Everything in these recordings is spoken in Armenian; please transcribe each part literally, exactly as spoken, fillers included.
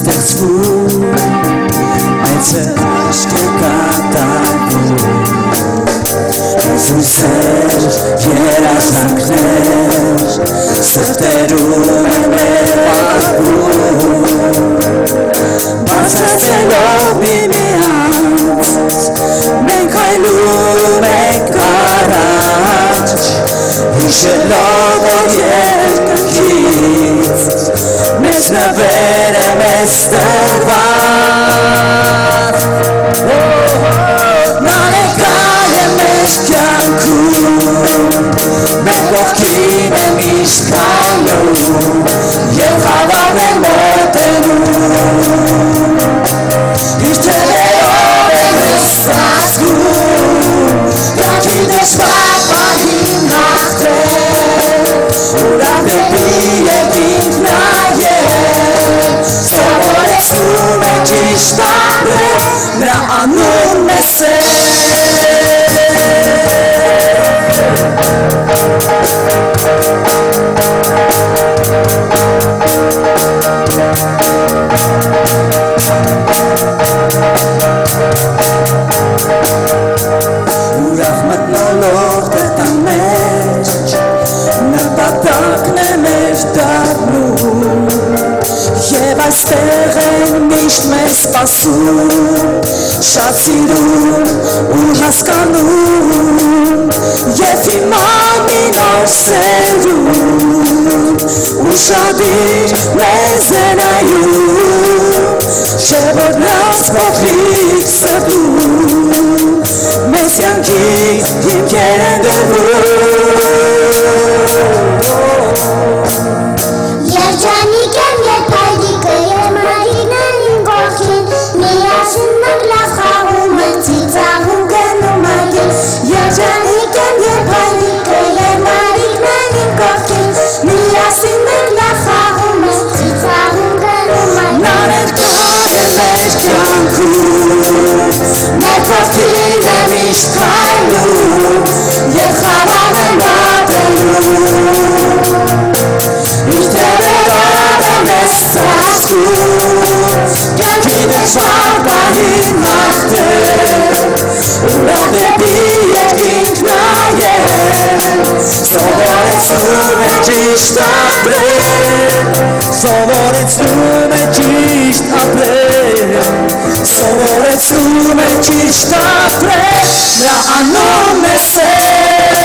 ստեղծվում Մեծ հրաշք է կատարվում Զույսեր, երազանքներ Սրտերում է մեր պատմում Բացացելով միմյանց Մենք այլում ենք առաջ Հիշելով որ երկնքից Մեզ նվեր է մեզ տրված Նա ներկայ է մեզ կյանքում Մեր կողքին է միշտ քայլում Եվ խավարն է մոտենում Իր թելերով է մեզ ծածկում Կյանքի դժվար պահին հաղթել Ուրախ դեպի երկինք նայել Սովորեցնում է ճիշտ ապրել Նրա անունն է սեր Ուրախ մտնոլող տղտան մեջ Նպատակն է մեր դառնում Եվ այստեղ են միշտ մեզ սպասում Շատ սիրում ու հասկանում Եվ իմանին օր սերում Ուշադիր մեզ է նայում Չէ որ նրանց փոքրիկ սրտում Մեզ յանքի հիմքեր են դրվում Երջանիկ եմ երբ հայրիկը և մայրիկն են իմ կողքին Միասին մենք լավ խաղում ենք ծիծաղում գնում այգին Երջանիկ եմ երբ հայրիկը և մայրիկն են իմ կողքին Միասին մենք լավ խաղում ենք ծիծաղում գնում այգին Նա ներկայ է մեր կյանքում Մեր կողքին է միշտ քայլում Եվ խավարն է մոտենում Իր թելերով է մեզ ծածկում Կյանքի դժվար պահին հաղթել Ուրախ դեպի երկինք նայել Սովորեցնում է ճիշտ ապրել Սովորեցնում է ճիշտ ապրել Սովորեցնում է ճիշտ ապրել Նրա անունն է սեր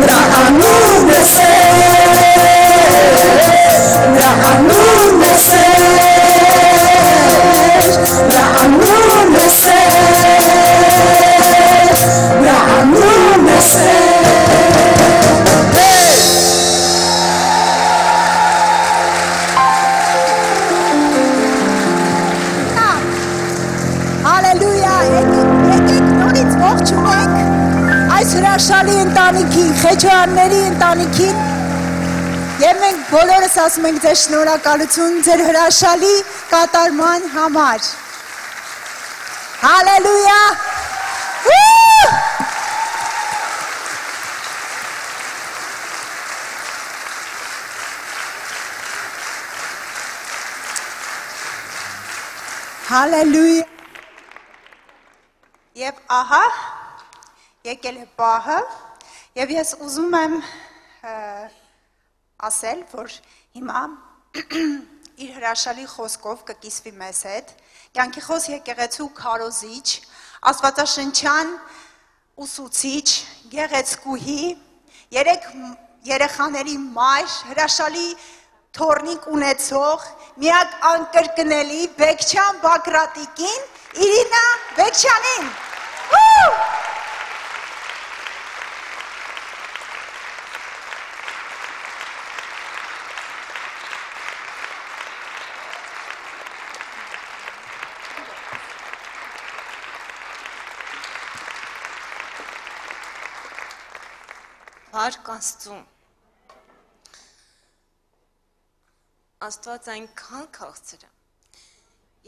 Նրա անունն է սեր Նրա անունն է սեր Նրա անունն է սեր Նրա անունն է սեր Հալելույա, եկեք նորից ողջունենք այս հրաշալի ընտանիքին, Խեչոյանների ընտանիքին և մենք բոլորս ասում ենք ձեզ շնորհակալություն ձեր հրաշալի կատարման համար։ Հալելույա։ Հալելույա։ Եվ ահա, եկել է պահը, և ես ուզում եմ ասել, որ հիմա իր հրաշալի խոսքով կկիսվի մեզ հետ, կյանքի խոս եկեղեցու քարոզիչ, աստվածաշնչյան ուսուցիչ, գեղեցկուհի, երեք երեխաների մայր, հրաշալի թորնիկ ունեցող, միակ անկրկնելի Բեկչյան Բակրատիկին, Իրինա Բեկչյանին։ Փառք Աստծուն։ Աստված այնքան քաղցր է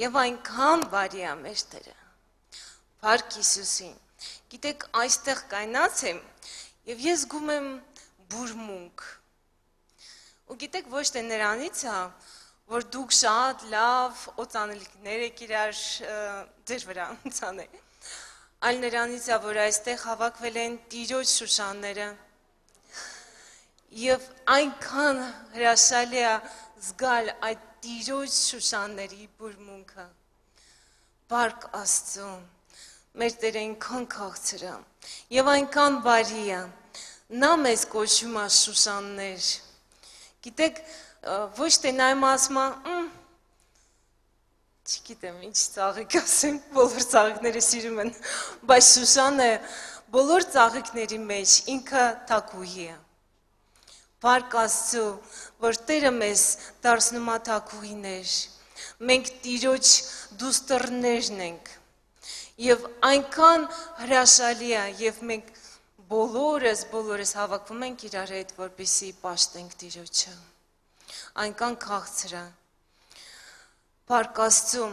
եւ այնքան բարի է մեր Տերը։ Փառք Հիսուսին։ Գիտեք, այստեղ կայնած եմ եւ ես զգում եմ բուրմունք։ Ու գիտեք, ոչ թե նրանից է, որ դուք շատ լավ օծանելիքներ եք իրար ձեր վրա ցանել։ Այլ նրանից է, որ այստեղ հավաքվել են Տիրոջ շուշանները եւ այնքան հրաշալի է զգալ այդ Տիրոջ շուշանների բուրմունքը։ Բարք Աստծո, մեր Տերը այնքան քաղցր է եւ այնքան բարի է։ Նա մեզ կոչում է շուշաններ։ Գիտեք, ոչ թե նա իմ ասում է, չգիտեմ, ինչ ծաղիկ ասեմ, բոլոր ծաղիկները սիրում են, բայց Շուշանը բոլոր ծաղիկների մեջ ինքը թագուհի է։ Բարք Աստծո, որ Տերը մեզ դարձնում է թագուհիներ, մենք Տիրոջ դուստրներն ենք, եւ այնքան հրաշալի է, եւ մենք բոլորս, բոլորս հավաքվում ենք իրար հետ, որպեսզի պաշտենք Տիրոջը, այնքան քաղցր է։ Բարք Աստծո,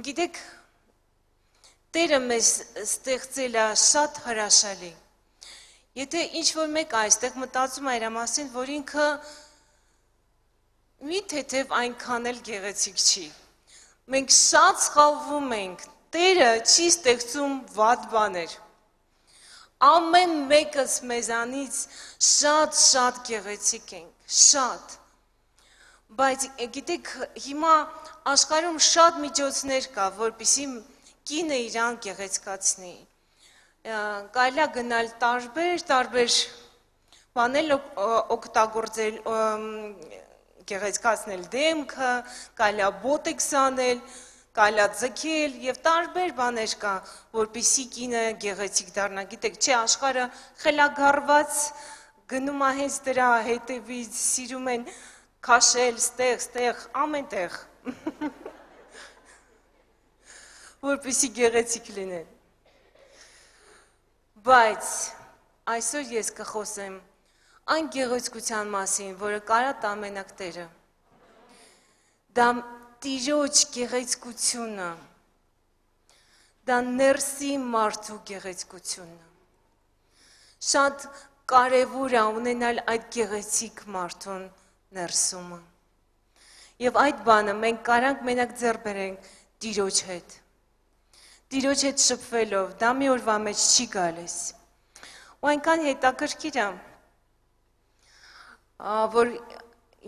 գիտեք, Տերը մեզ ստեղծել է շատ հրաշալի։ Եթե ինչ-որ մեկ այստեղ մտածում է իր մասին, որ ինքը մի թեթև այնքան էլ գեղեցիկ չի։ Մենք շատ սխալվում ենք, Տերը չի ստեղծում վատ բաներ։ Ամեն մեկս մեզանից շատ-շատ գեղեցիկ ենք, շատ։ Բայց գիտեք, հիմա աշխարհում շատ միջոցներ կա, որպեսզի կինը իրան գեղեցկացնի։ Կարելի է գնալ տարբեր, տարբեր բաներ օգտագործել, գեղեցկացնել դեմքը, կարելի է բոտեքս անել, կարելի է ձգել եւ տարբեր բաներ կա, որպեսզի կինը գեղեցիկ դառնա։ Գիտեք, չէ, աշխարհը խելագարված գնում է հենց դրա հետևից, սիրում են քաշել, ստեղ, ստեղ, ամեն տեղ, որպեսզի գեղեցիկ լինեն։ Բայց այսօր ես կխոսեմ այն գեղեցկության մասին, որը կարա տա մենակ Տերը։ Դա Տիրոջ գեղեցկությունը, դա ներսի մարդու գեղեցկությունը։ Շատ կարևոր է ունենալ այդ գեղեցիկ մարդուն ներսումը։ Եվ այդ բանը մենք կարանք մենակ ձեռ բերենք Տիրոջ հետ։ Տիրոջ հետ շփվելով, դա մի օրվա մեջ չի գալիս։ Ու այնքան հետաքրքիր է, որ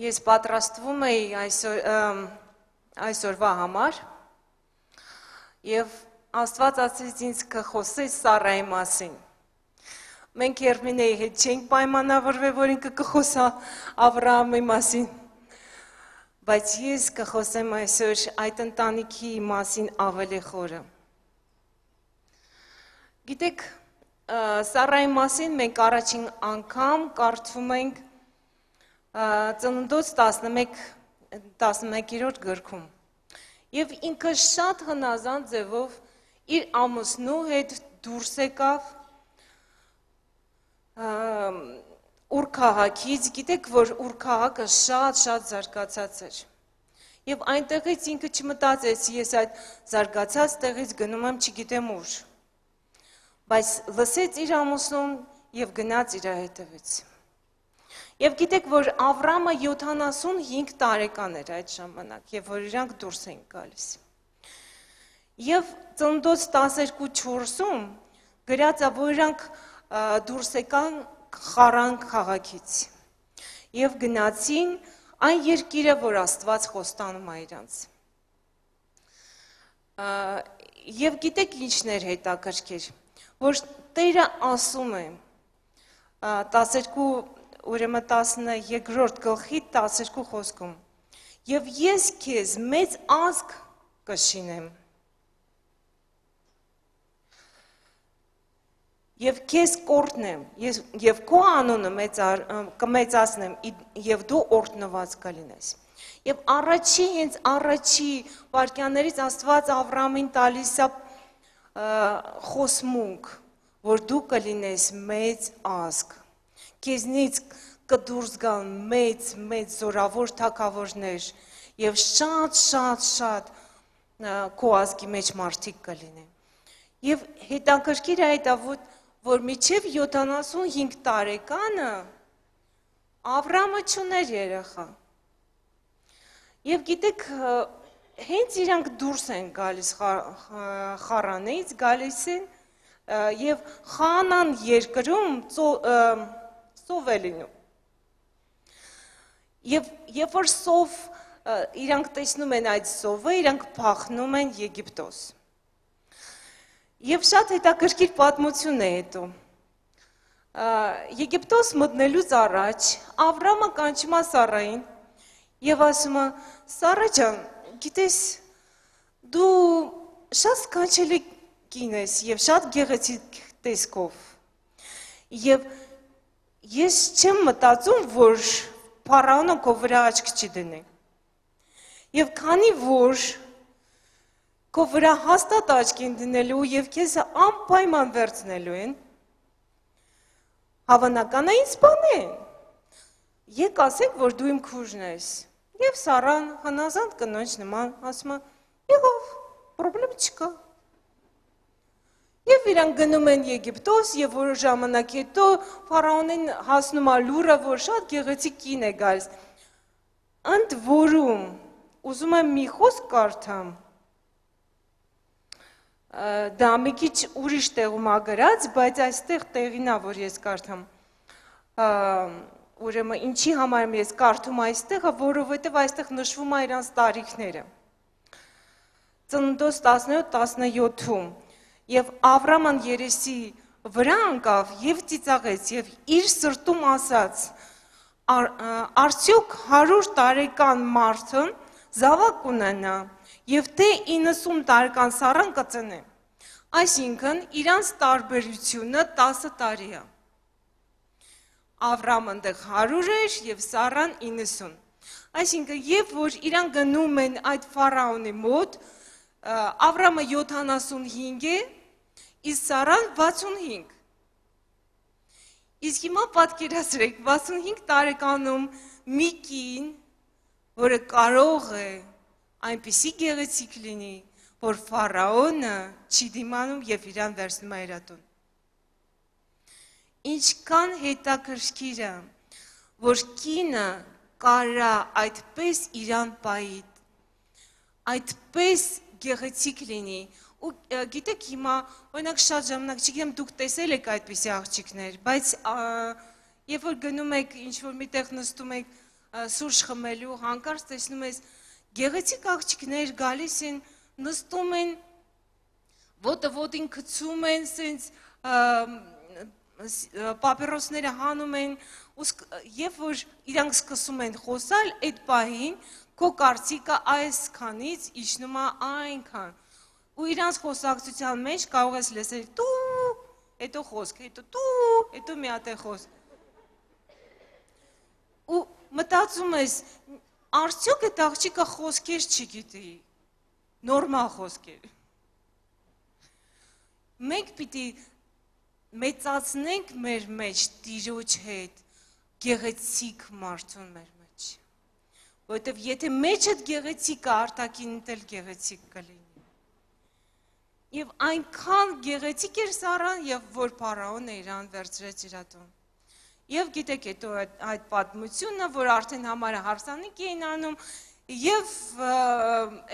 ես պատրաստվում էի այսօր այսօրվա համար եւ Աստված ասեց ինձ կխոսես Սառայի մասին։ Մենք Երմինեի հետ չենք պայմանավորվել, որ ինքը կխոսա Ավրահամի մասին, բայց ես կխոսեմ այսօր այդ ընտանիքի մասին ավելի խորը։ Գիտեք, Սառայի մասին մենք առաջին անգամ կարդում ենք Ծննդոց տասնմեկերորդ գրքում։ Եվ ինքը շատ հնազանդ ձևով իր ամուսնու հետ դուրս եկավ Ուր քաղաքից, գիտեք, որ Ուր քաղաքը շատ-շատ զարգացած էր։ Եվ այնտեղից ինքը չմտածեց, ես այդ զարգացած տեղից գնում եմ չգիտեմ ուր։ Բայց լսեց իր ամուսնուն եւ գնաց իր հետևից։ Եվ գիտեք, որ Ավրամը յոթանասունհինգ տարեկան էր այդ ժամանակ, եւ որ իրանք դուրս են գալիս։ Եվ Ծննդոց տասներկու չորսում գրած է, որ իրանք դուրս եկան Խարան քաղաքից եւ գնացին այն երկիրը, որ Աստված խոստանում է իրանց։ Եվ գիտեք ինչներ հետաքրքիր, որ Տերը ասում է տասներկու ուրեմն տասներկրորդ գլխի տասներկու խոսքում. Եվ ես քեզ մեծ ազգ կշինեմ։ Եվ քեզ կորտնեմ, եւ քո անունը կմեծացնեմ, եւ դու օրհնված կլինես։ Եվ առաջի, հենց առաջի վայրկյաններից Աստված Ավրամին տալիս է խոսմունք, որ դու կլինես մեծ ազգ։ Քեզնից կդուրս գան մեծ, մեծ զորավոր թագավորներ եւ շատ, շատ, շատ քո ազգի մեջ մարդիկ կլինեն։ Եվ հետաքրքիր է այդ, որ մինչև յոթանասունհինգ տարեկանը Ավրամը չուներ երեխա։ Եվ գիտեք, հենց իրանք դուրս են գալիս խառանից, գալիս են և խանան երկրում սով է լինում։ Եվ երբ որ սով իրանք տեսնում են այդ սովը, իրանք փախնում են Եգիպտոս։ Եվ շատ հետաքրքիր պատմություն է հետո։ Եգիպտոս մտնելուց առաջ Ավրամը կանչում է Սառային և ասում է. Սառա ջան, գիտես, դու շատ սքանչելի կին ես և շատ գեղեցիկ տեսքով։ Եվ ես չեմ մտածում, որ Փարավոնը քո վրա աչք չի դնի։ Եվ քանի որ քո վրա հաստատ աչք են դնելու և քեզ անպայման վերցնելու են, հավանական է ինձ սպանեն։ Եկ ասենք, որ դու իմ քույրն ես։ Եվ Սառան հնազանդ կնոջ նման ասում է. եղավ, պրոբլեմ չկա։ Եվ իրանք գնում են Եգիպտոս և որ ժամանակ հետո Փարավոնին հասնում է լուրը, որ շատ գեղեցիկ կին է գալիս։ Ընդ որում, ուզում եմ մի խոսք կարդամ, դա մի քիչ ուրիշ տեղում է գրած, բայց այստեղ տեղին է, որ ես կարդամ։ Ուրեմն ինչի համար եմ ես կարդում այստեղը, որովհետև այստեղ նշվում է իրանց տարիքները։ Ծննդոց տասնյոթ տասնյոթում և Ավրաման երեսի վրա անկավ և ծիծաղեց և իր սրտում ասաց. արդյոք հարյուր տարեկան մարդն զավակ կունենա և թե իննսուն տարեկան Սառան կծնե։ Այսինքն իրանց տարբերությունը տասը տարի է։ Ավրամն դեռ հարյուր էր և Սառան իննսուն։ Այսինքն, երբ որ իրանք գնում են այդ Ֆարաոնի մոտ, Ավրամը յոթանասունհինգ է, իսկ Սառան վաթսունհինգ։ Իսկ հիմա պատկերացրեք, վաթսունհինգ տարեկանում մի կին, որը կարող է այնպիսի գեղեցիկ լինի, որ Ֆարաոնը չի դիմանում և իրան վերցնում է իր տուն։ Ինչքան հետաքրքիր է, որ կինը կարա այդպես իրան պայի, այդպես գեղեցիկ լինի, ու գիտեք հիմա, օրինակ շատ ժամանակ, չգիտեմ դուք տեսել եք այդպիսի աղջիկներ, բայց երբ որ գնում եք, ինչ-որ միտեղ նստում եք սուրճ խմելու, հանկարծ տեսնում ես գեղեցիկ աղջիկներ գալիս են, նստում են, ոտը ոտին գցում են, սենց պապիրոսները հանում են, և որ իրանք սկսում են խոսալ, այդ պահին քո կարծիքը այսքանից իջնում է այնքան, ու իրանց խոսակցության մեջ կարող ես լսել տու, հետո խոսք, հետո տու, հետո մի հատ է խոսք։ Ու մտածում ես, արդյոք այդ աղջիկը խոսքեր չգիտի, նորմալ խոսքեր։ Մենք պիտի մեծացնենք մեր մեջ Տիրոջ հետ գեղեցիկ մարդուն մեր մեջ, որովհետև եթե մեջդ գեղեցիկ է, արտաքինդ էլ գեղեցիկ կլինի։ Եվ այնքան գեղեցիկ էր Սառան, և որ Փարավոնը իրան վերցրեց իր տուն։ Եվ գիտեք հետո այդ պատմությունը, որ արդեն համարը հարսանիք էին անում, և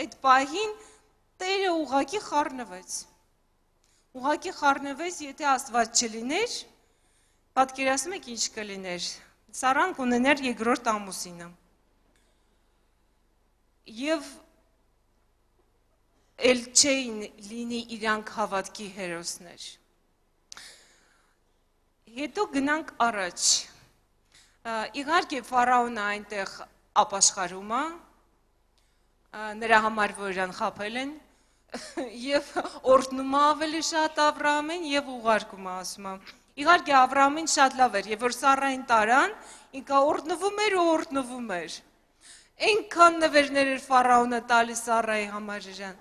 այդ պահին Տերը ուղղակի խառնվեց։ Ուղղակի խառնվեց, եթե Աստված չլիներ, պատկերացնում եք ինչ կլիներ։ Սառան կունենար երկրորդ ամուսինը։ Եվ էլ չէին լինի իրանք հավատքի հերոսներ։ Հետո գնանք առաջ։ Իհարկե Ֆարաոնը այնտեղ ապաշխարում է, նրա համար, որ իրան խաբել են, և օրհնում է ավելի շատ Ավրամին և ուղարկում է, ասում է։ Իհարկե Ավրամին շատ լավ էր, և որ Սառային տարան, ինքը օրհնվում էր ու օրհնվում էր։ Այնքան նվերներ էր Ֆարաոնը տալիս Սառայի համար իրան։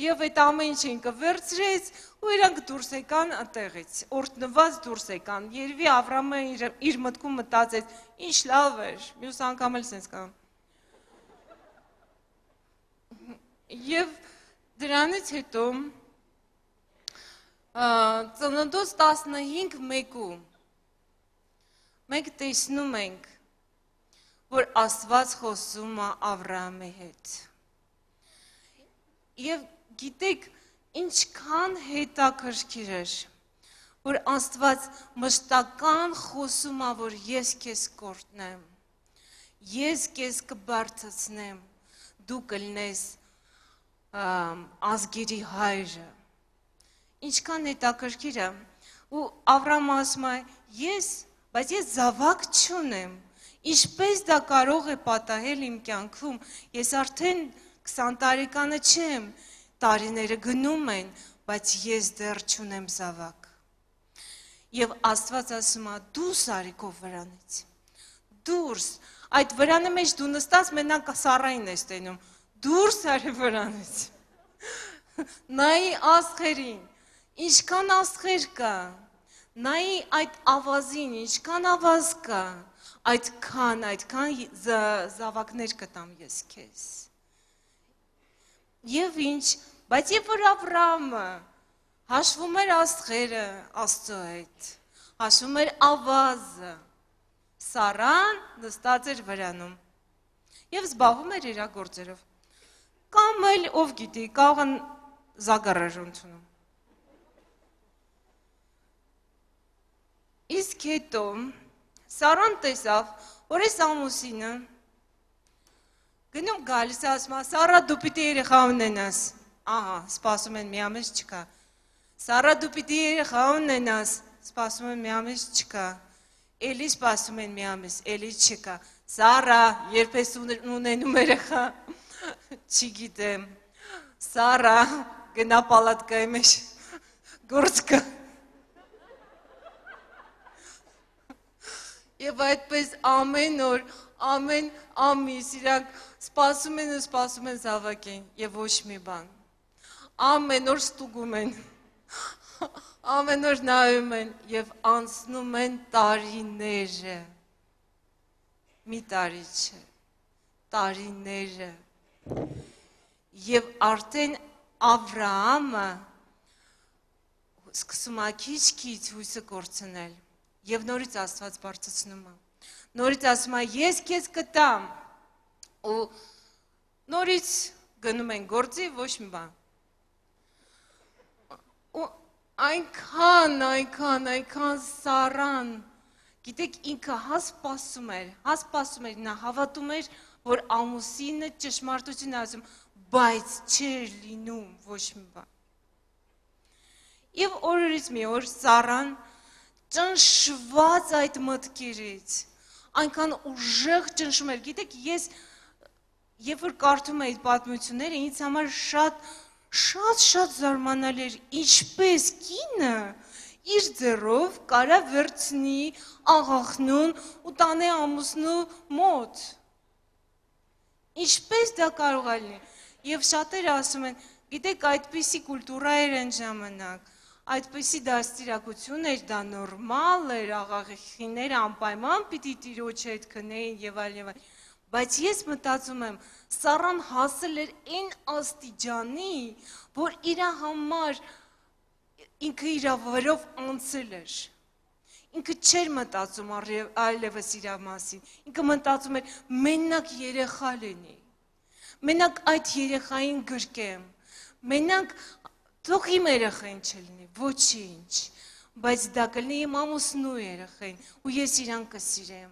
Եվ այդ ամեն ինչ ինքը վերցրեց ու իրանք դուրս եկան այդտեղից, օրհնված դուրս եկան։ Երևի Ավրամը իր մտքում մտածեց, ինչ լավ էր, մյուս անգամ էլ սենց կան։ Եվ դրանից հետո ծննդոց տասնհինգ մեկում մենք տեսնում ենք, որ Աստված խոսում է Ավրամի հետ։ Եվ գիտեք, ինչքան հետաքրքիր էր, որ Աստված մշտական խոսում է, որ ես քեզ կօրհնեմ, ես քեզ կբարձրացնեմ, դու կլինես ազգերի հայրը։ Ինչքան հետաքրքիր է, ու Ավրամը ասում է, ես, բայց ես զավակ չունեմ, ինչպես դա կարող է պատահել իմ կյանքում, ես արդեն քսան տարեկանը չեմ, տարիները գնում են, բայց ես դեռ չունեմ զավակ։ Եվ Աստված ասում է, դուրս արի քո վրանից, դուրս, այդ վրանի մեջ դու նստած մենակ Սառային ես տենում, դուրս արի վրանից, նայի աստղերին, ինչքան աստղեր կա, նայի այդ ավազին, ինչքան ավազ կա, այդքան, այդքան զավակներ կտամ ես քեզ։ Եվ ինչ, բայց երբ որ Ավրամը հաշվում էր աստղերը Աստծո հետ, հաշվում էր ավազը, Սառան նստած էր վրանում եւ զբաղվում էր իր գործերով։ Կամ էլ ով գիտի, կարող են զագարաժ ընդունում։ Իսկ հետո Սառան տեսավ, որ այս ամուսինը գնում գալիս է, ասում է, Սառա դու պիտի երեխա ունենաս։ Ահա, սպասում են մի ամիս չկա։ Սառա դու պիտի երեխա ունենաս, սպասում են մի ամիս չկա։ Էլի սպասում են մի ամիս, էլի չկա։ Սառա, երբ ես ունենում երեխա, չգիտեմ։ Սառա, գնա պալատկայի մեջ գործ կա։ Եվ այդպես ամեն օր, ամեն ամիս իրանք սպասում են ու սպասում են զավակին և ոչ մի բան։ Ամեն օր ստուգում են, ամեն օր նայում են և անցնում են տարիները, մի տարի չէ, տարիները։ Եվ արդեն Ավրահամը սկսում է քիչ-քիչ հույսը կորցնել և նորից Աստված բարձրացնում է։ Նորից ասում է, ես քեզ կտամ, ու նորից գնում են գործի, ոչ մի բան։ Ու այնքան, այնքան, այնքան Սառան, գիտեք, ինքը հասպասում էր, հասպասում էր, նա հավատում էր, որ ամուսինը ճշմարտություն է ասում, բայց չէր լինում ոչ մի բան։ Եվ օրերից մի օր Սառան ճնշված այդ մտքերից, այնքան ուժեղ ճնշում էր, գիտեք, ես, երբ որ կարդում էի պատմությունները, ինձ համար շատ, շատ, շատ զարմանալի էր, ինչպես կինը իր ձեռով կարա վերցնի աղախնուն ու տանի ամուսնու մոտ։ Ինչպես դա կարող է լինի։ Եվ շատերը ասում են, գիտեք, այդպիսի կուլտուրա էր այն ժամանակ, այդպիսի դաստիարակություն էր, դա նորմալ էր, աղախինները անպայման պիտի տիրոջ հետ քնեին եւ այլ եւ այլ։ Բայց ես մտածում եմ, Սառան հասել էր այն աստիճանի, որ իր համար ինքը իր վրով անցել էր։ Ինքը չէր մտածում այլևս իր մասին, ինքը մտածում էր մենակ երեխա լինի, մենակ այդ երեխային գրկեմ, մենակ թող իմ երեխային չլինի, ոչինչ, բայց դա կլինի իմ ամուսնու երեխային, ու ես իրան կսիրեմ,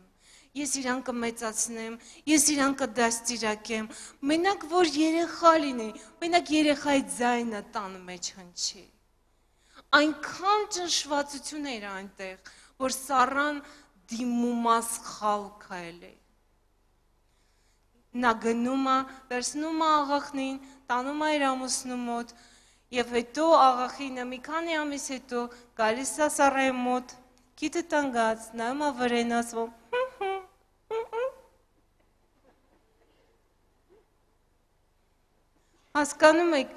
ես իրան կմեծացնեմ, ես իրան կդաստիարակեմ, մենակ որ երեխա լինի, մենակ երեխայի ձայնը տան մեջ հնչի։ Այնքան ճնշվածություն էր այնտեղ, որ Սառան դիմումասխալ քայլ է։ Նա գնում է, վերցնում է աղախնին, տանում է իր ամուսնու մոտ, և հետո աղախինը մի քանի ամիս հետո գալիս է Սառայի մոտ, քիթը տանգած, նայում է վրեն, ասում հասկանում եք,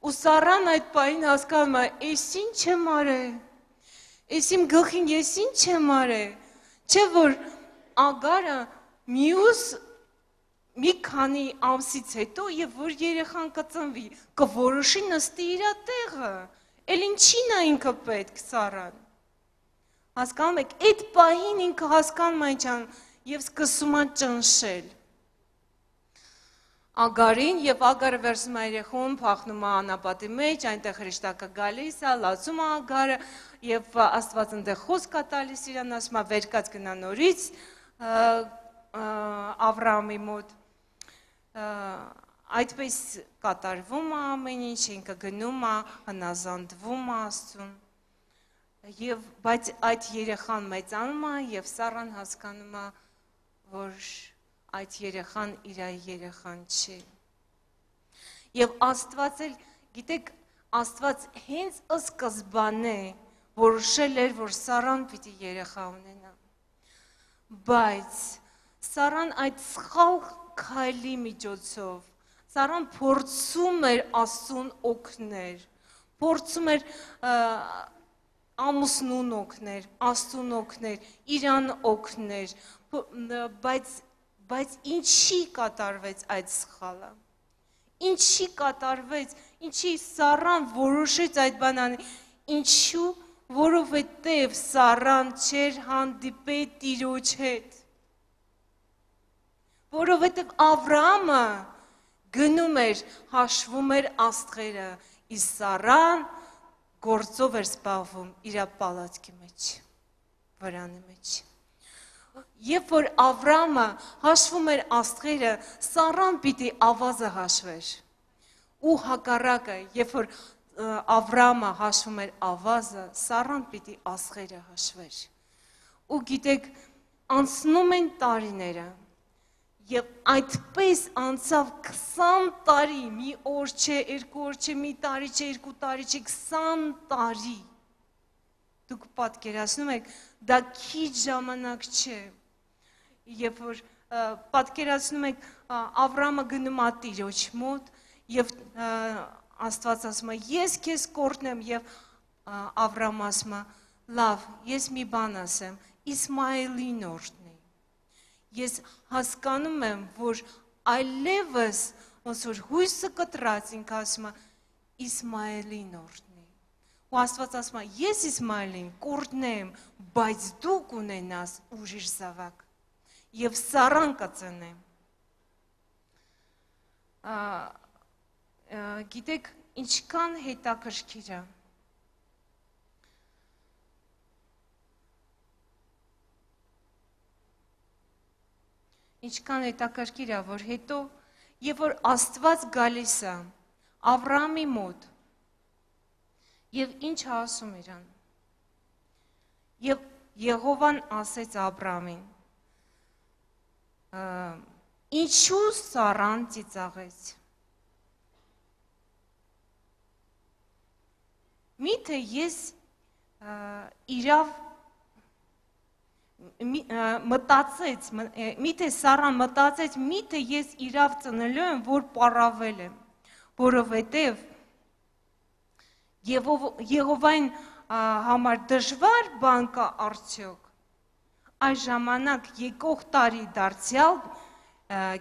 ու Սառան այդ պահին հասկանում է, ես ինչ եմ արել, ես իմ գլխին ես ինչ եմ արել, չէ որ Ագարը մյուս մի քանի ամսից հետո եւ որ երեխան կծնվի, կորոշի նստի իր տեղը, էլ ինչին է ինքը պետք Սառան։ Հասկանում եք, այդ պահին ինքը հասկանում է ինչան, եւ սկսում է ճնշել Ագարին եւ Ագարը վերցնում է երեխուն, փախնում է անապատի մեջ, այնտեղ հրեշտակը գալիս է, լացում է Ագարը եւ Աստված այնտեղ խոսք է տալիս իրան, ասում է վերկած գնա նորից Ավրամի մոտ այդպես կատարվում է ամեն ինչ, ինքը գնում է, հնազանդվում է Աստծուն եւ բայց այդ երեխան մեծանում է եւ Սառան հասկանում է, որ այդ երեխան իր երեխան չի։ Եվ Աստված էլ, գիտեք, Աստված հենց սկզբանե որոշել էր, որ Սառան պիտի երեխա ունենա։ Բայց Սառան այդ սխալ քայլի միջոցով, Սառան փորձում էր Աստծուն օգնել, փորձում էր ամուսնուն օգնել, Աստծուն օգնել, իրան օգնել, բայց Բայց ինչի կատարվեց այդ սխալը, ինչի կատարվեց, ինչի Սառան որոշեց այդ բանան, ինչու, որովհետև Սառան չէր հանդիպել Տիրոջ հետ, որովհետև Ավրամը գնում էր, հաշվում էր աստղերը, իսկ Սառան գործով էր զբաղվում իր պալատքի մեջ, վրանի մեջ։ Երբ որ Ավրամը հաշվում էր աստղերը, Սառան պիտի ավազը հաշվեր։ Ու հակառակը, երբ որ Ավրամը հաշվում էր ավազը, Սառան պիտի աստղերը հաշվեր։ Ու գիտեք, անցնում են տարիները, եւ այդպես անցավ քսան տարի, մի օր չէ, երկու օր չէ, մի տարի չէ, երկու տարի չէ, քսան տարի։ Դուք պատկերացնում եք, դա քիչ ժամանակ չէ։ Երբ որ պատկերացնում եք Ավրամը գնում է Տիրոջ մոտ եւ Աստված ասում է ես քեզ կորտնեմ եւ Ավրամը ասում է լավ ես մի բան ասեմ Իսմայելին օրհնի ես հասկանում եմ որ այլևս ոնց որ հույսը կտրած ինքը ասում է Իսմայելին օրհնի ու Աստված ասում է ես Իսմայելին կորտնեմ բայց դու կունենաս ուրիշ զավակ Եվ Սառան կծնե։ Գիտեք, ինչքան հետաքրքիր է։ Ինչքան հետաքրքիր է, որ հետո, երբ որ Աստված գալիս է Ավրամի մոտ, եւ ինչ ասում իրան։ Եվ Եհովան ասեց Ավրամին Ինչու Սառան ծիծաղեց։ Միթե ես իրավ մտածեց, միթե Սառան մտածեց, միթե ես իրավ ծնելու եմ, որ պառավել եմ, որովհետև Եհովային համար դժվար բան կա արդյոք։ Այս ժամանակ եկող տարի դարձյալ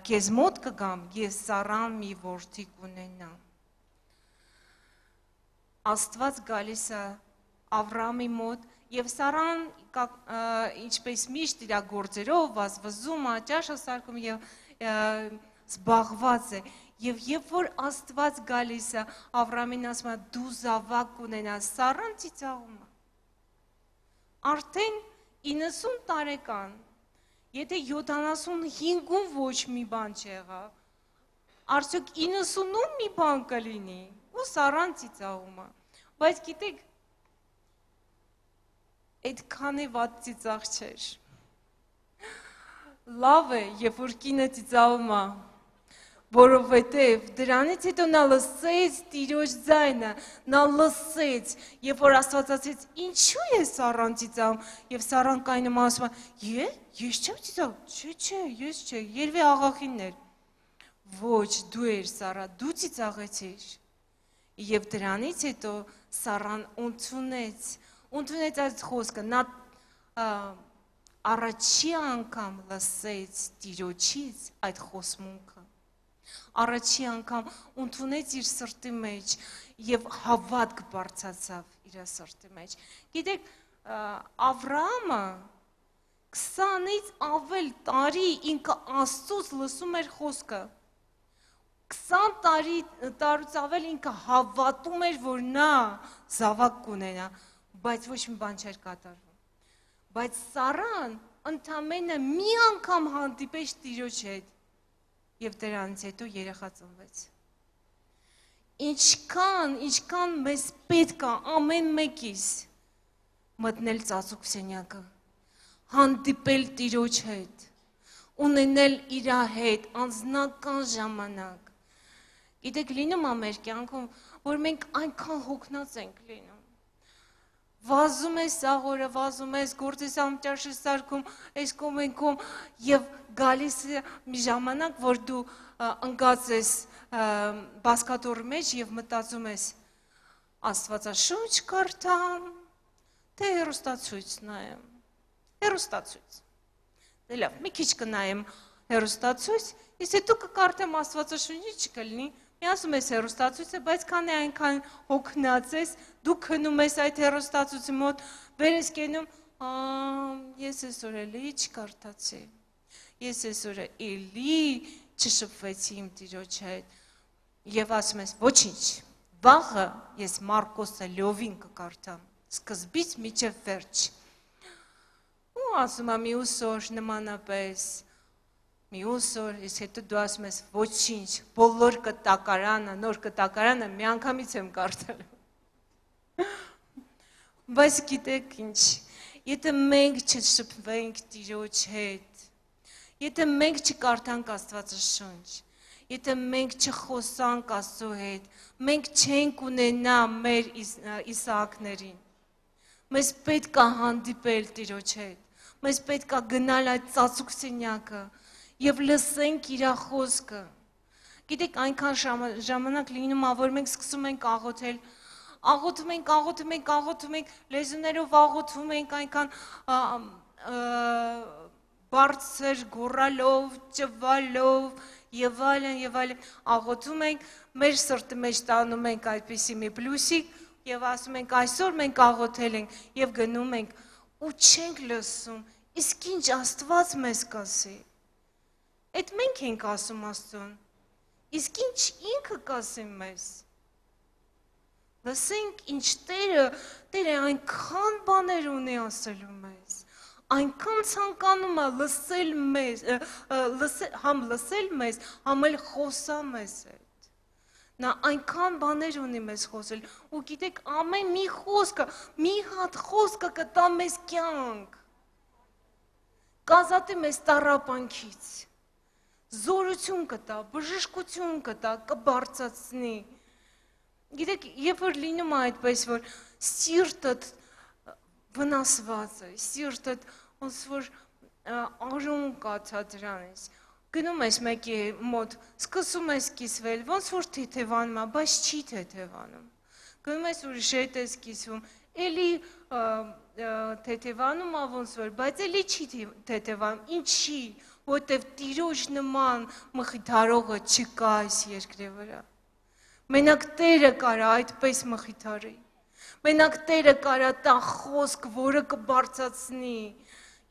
քեզ մոտ կգամ, ես Սառան մի որդի կունենամ։ Աստված գալիս է Ավրամի մոտ եւ Սառան ինչպես միշտ իր գործերով վազվզում է, ճաշը սարքում եւ զբաղված է եւ երբ որ Աստված գալիս է Ավրամին ասում է դու զավակ կունենաս, Սառան ծիծաղում է։ Արդեն իննսուն տարեկան, եթե յոթանասունհինգում ոչ մի բան չեղավ, արդյոք իննսունում մի բան կլինի, ու Սառան ծիծաղում է, բայց գիտեք, այդքան է վատ ծիծաղ չէր, լավ է, երբ որ կինը ծիծաղում է, որովհետև դրանից հետո նա լսեց Տիրոջ ձայնը, նա լսեց, երբ որ Աստված ասեց, ինչու է Սառան ծիծաղում, եւ Սառան կայնում ասում է, «Է, ես չեմ ծիծաղում, չէ, չէ, ես չէ, երևի աղախինն էր»։ Ոչ, դու էր Սառա, դու ծիծաղեցիր։ Եվ դրանից հետո Սառան ընդունեց, ընդունեց այդ խոսքը, նա առաջի անգամ լսեց Տիրոջից այդ խոսմունքը։ Առաջի անգամ ընդունեց իր սրտի մեջ եւ հավատք բարձրացավ իր սրտի մեջ։ Գիտեք, Ավրամը քսանից ավել տարի ինքը Աստծուց լսում էր խոսքը։ քսան տարի տարուց ավել ինքը հավատում էր, որ նա զավակ կունենա, բայց ոչ մի բան չէր կատարվում։ Բայց Սարան ընդամենը մի անգամ հանդիպեց Տիրոջ հետ եւ դրանից հետո երեխա ծնվեց։ Ինչքան, ինչքան մեզ պետք է ամեն մեկիս մտնել ծածուկ սենյակը, հանդիպել Տիրոջ հետ, ունենել իր հետ անձնական ժամանակ։ Գիտեք, լինում է մեր կյանքում, որ մենք այնքան հոգնած ենք լինում։ Վազում ես սաղորը, վազում ես, գործես ամճաշ ես սարքում, այս կոմենքում եւ գալիս է մի ժամանակ, որ դու ընկած ես բասկատորի մեջ եւ մտածում ես Աստվածաշունչ կարդամ, թե հեռուստացույց նայեմ։ Հեռուստացույց։ Դե լավ, մի քիչ կնայեմ հեռուստացույց, իսկ հետո կկարդամ Աստվածաշունչի չկլինի։ Մի ասում ես հեռուստացույցը, բայց քանի այնքան հոգնած ես, դու քնում ես այդ հեռուստացույցի մոտ, վեր ես կենում, ես այսօր էլի չկարդացի։ Ես այսօր էլի չշփվեցի իմ Տիրոջ հետ։ Եվ ասում ես, ոչինչ, վաղը ես Մարկոսը լովին կկարդամ, սկզբից մինչև վերջ։ Ու ասում եմ, մյուս օր նմանապես, մյուս օր, իսկ հետո դու ասում ես, ոչինչ, բոլոր կտակարանը, նոր կտակարանը մի անգամից եմ կարդալու։ Բայց գիտեք ինչ, եթե մենք չշփվենք Տիրոջ հետ, եթե մենք չկարդանք Աստվածաշունչ, եթե մենք չխոսանք Աստծո հետ, մենք չենք ունենա մեր Իսահակներին։ Մեզ պետք է հանդիպել Տիրոջ հետ, մեզ պետք է գնալ այդ ծածուկ սենյակը եւ լսենք իր խոսքը։ Գիտեք, այնքան ժամանակ լինում է, որ մենք սկսում ենք աղոթել, աղոթում ենք, աղոթում ենք, աղոթում ենք, լեզուներով աղոթում ենք, այնքան բարձր գոռալով, ճվալով եւ այլն եւ այլն աղոթում ենք, մեր սրտի մեջ տանում ենք այդպիսի մի պլյուսիկ եւ ասում ենք այսօր մենք աղոթել ենք եւ գնում ենք ու չենք լսում, իսկ ինչ Աստված մեզ կասի։ Այդ մենք ենք ասում Աստծուն, իսկ ինչ ինքը կասի մեզ։ Լսենք ինչ Տերը, Տերը այնքան բաներ ունի ասելու մեզ, այնքան ցանկանում է լսել մեզ, համ լսել մեզ, համ էլ խոսա մեզ հետ։ Նա այնքան բաներ ունի մեզ խոսել, ու գիտեք, ամեն մի խոսքը, մի հատ խոսքը կտա մեզ կյանք, կազատի մեզ տառապանքից, զորություն կտա, բժշկություն կտա, կբարձրացնի։ Գիտեք, երբ որ լինում է այդպես, որ սիրտդ վնասված է, սիրտդ ոնց որ արյուն կաթա դրանից, գնում ես մեկի մոտ, սկսում ես կիսվել, ոնց որ թեթևանում է, բայց չի թեթևանում։ Գնում ես ուրիշ հետ ես կիսվում, էլի թեթևանում է ոնց որ, բայց էլի չի թեթևանում, ինչի, որտև Տիրոջ նման մխիթարողը չկա այս երկրի վրա։ Մենակ Տերը կարա այդպես մխիթարի, մենակ Տերը կարա տա խոսք, որը կբարձրացնի։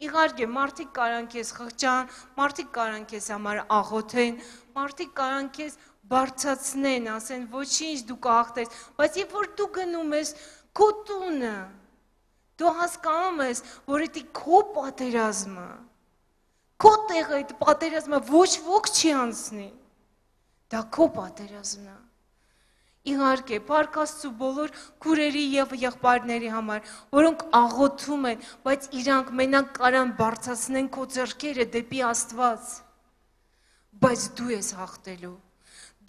Իհարկե, մարդիկ կարան քեզ խղճան, մարդիկ կարան քեզ համար աղոթեն, մարդիկ կարան քեզ բարձրացնեն, ասեն ոչինչ դու կհաղթես, բայց երբ որ դու գնում ես քո տունը, դու հասկանում ես, որ դա քո պատերազմը, քո տեղը այդ պատերազմը ոչ ոք չի անցնի, դա քո պատերազմն է։ Իհարկե, Փառք Աստծո բոլոր քուրերի եւ եղբայրների համար, որոնք աղոթում են, բայց իրանք մենակ կարան բարձրացնեն քո ձեռքերը դեպի Աստված, բայց դու ես հաղթելու,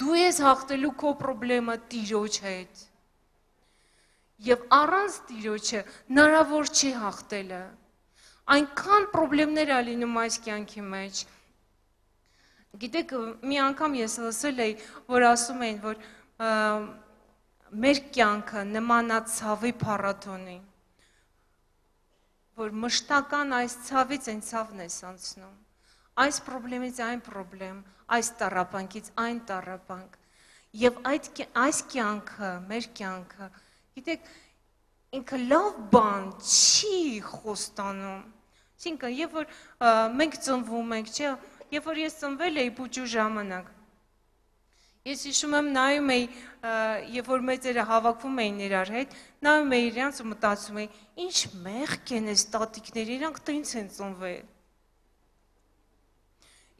դու ես հաղթելու քո խնդրումը Տիրոջ հետ։ Եվ առանց Տիրոջը հնարավոր չի հաղթելը։ Այնքան խնդիրներ ա լինում այս կյանքի մեջ։ Գիտեք, մի անգամ ես լսել էի, որ ասում էին, որ մեր կյանքը նման է ցավի փառատոնի, որ մշտական այս ցավից այն ցավն ես անցնում, այս խնդրից այն խնդրեմ, այս տառապանքից այն տառապանք, եւ այդ այս կյանքը, մեր կյանքը, գիտեք, ինքը լավ բան չի խոստանում, Այսինքն, երբ որ մենք ծնվում ենք, չէ, երբ որ ես ծնվել էի բուջու ժամանակ, ես հիշում եմ նայում էի, երբ որ մեծերը հավաքվում էին իրար հետ, նայում էի իրանց ու մտածում էի, ինչ մեղք են այս տատիկները, իրանք տենց են ծնվել։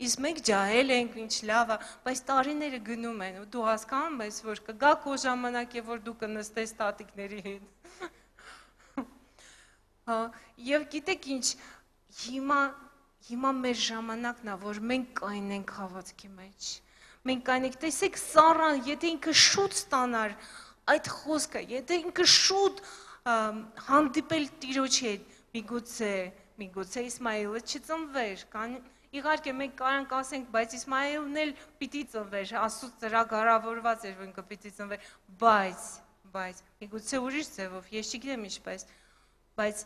Իսկ մենք ջահել ենք, ինչ լավ է, բայց տարիները գնում են ու դու հասկանում ես, որ կգա քո ժամանակ, երբ որ դու կնստես տատիկների հետ։ Եվ գիտեք ինչ, հիմա հիմա մեր ժամանակն է, որ մենք կայնենք հավատքի մեջ։ Մենք կայնենք, տեսեք Սառան, եթե ինքը շուտ ստանար այդ խոսքը, եթե ինքը շուտ հանդիպել Տիրոջի հետ, միգուցե, միգուցե Իսմայելը չծնվեր, կան Իհարկե մենք կարանք ասենք, բայց Իսմայելն էլ պիտի ծնվեր, Աստծո ծրագրավորված էր, որ ինքը պիտի ծնվեր, բայց, բայց, միգուցե ուրիշ ձևով, ես չգիտեմ ինչպես, բայց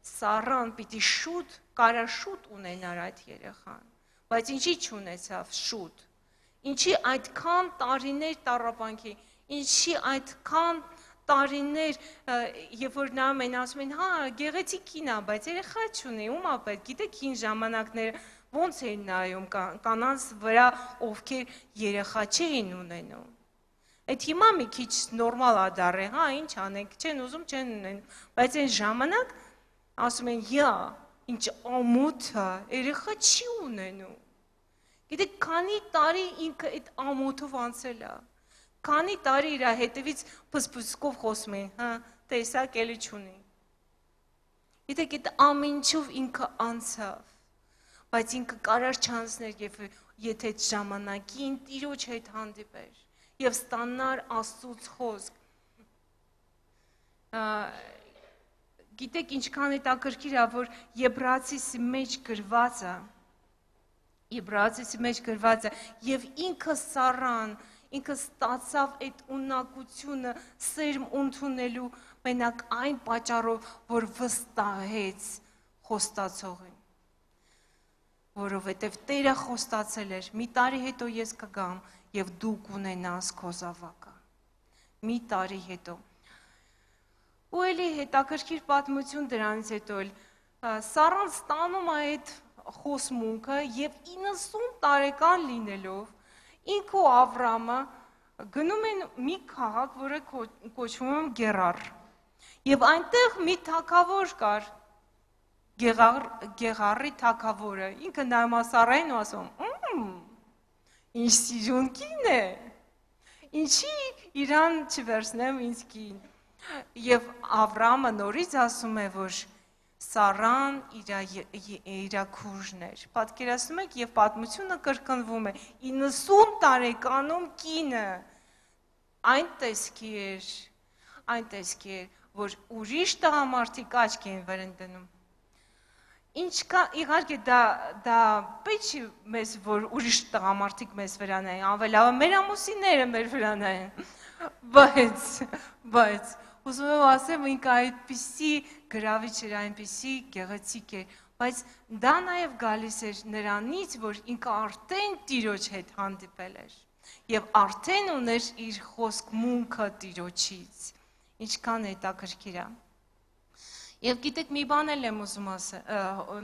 Սառան պիտի շուտ, կարա շուտ ունենար այդ երեխան, բայց ինչի չունեցավ շուտ, ինչի այդքան տարիներ տառապանքի, ինչի այդքան տարիներ, երբ որ նայում են ասում են, հա, գեղեցիկ կին է, բայց երեխա չունի, ում ա պետք, գիտեք հին ժամանակները ոնց էին նայում կանանց վրա, ովքեր երեխա չէին ունենում։ Այդ հիմա մի քիչ նորմալ ա դառել, հա, ինչ անենք, չեն ուզում, չեն ունենում, բայց այն ժամանակ ասում են, յա, ինչ ամոթ է, երեխա չի ունենում։ Գիտեք, քանի տարի ինքը այդ ամոթով անցել է, քանի տարի իր հետևից փսփսկով խոսում են, հա, տեսակ էլի չունի։ Գիտեք, այդ ամենչով ինքը անցավ, բայց ինքը կարար չանցներ, եթե այդ ժամանակին Տիրոջ հետ հանդիպեր եւ ստանար Աստծուց խոսք։ Գիտեք, ինչքան հետաքրքիր է, որ Եբրայեցի մեջ գրված է, Եբրայեցի մեջ գրված է, եւ ինքը Սառան, ինքը ստացավ այդ ունակությունը սերմ ընդունելու մենակ այն պատճառով, որ վստահեց խոստացողին, որովհետև Տերը խոստացել էր, մի տարի հետո ես կգամ եւ դու կունենաս քո զավակը, մի տարի հետո։ Ու էլի հետաքրքիր պատմություն դրանից հետո էլ Սառան ստանում է այդ խոսմունքը եւ իննսուն տարեկան լինելով ինքը ու Ավրամը գնում են մի քաղաք, որը կոչվում է Գերար։ Եվ այնտեղ մի թագավոր կար, Գեղարի թագավորը, ինքը նայում է Սառային ու ասում, ինչ սիրուն կին է, ինչի իրան չվերցնեմ ինձ կին։ Եվ Ավրամը նորից ասում է, որ Սառան իր քուրժն էր։ Պատկերացնում եք, եւ պատմությունը կրկնվում է, իննսուն տարեկանում կինը այն տեսքի էր, այն տեսքի էր, որ ուրիշ տղամարդիկ աչք են վրան դնում։ Ինչ կա, իհարկե դա պետք չի մեզ, որ ուրիշ տղամարդիկ մեզ վրա նայեն, ավելավը մեր ամուսինները մեր վրա նայեն, բայց, բայց, ուզում եմ ասեմ, ինքը այդպիսի գրավիչ էր, այնպիսի գեղեցիկ էր, բայց դա նաև գալիս էր նրանից, որ ինքը արդեն Տիրոջ հետ հանդիպել էր եւ արդեն ուներ իր խոսքմունքը Տիրոջից, ինչքան հետաքրքիր է։ Եվ գիտեք, մի բան էլ եմ ուզում ասել,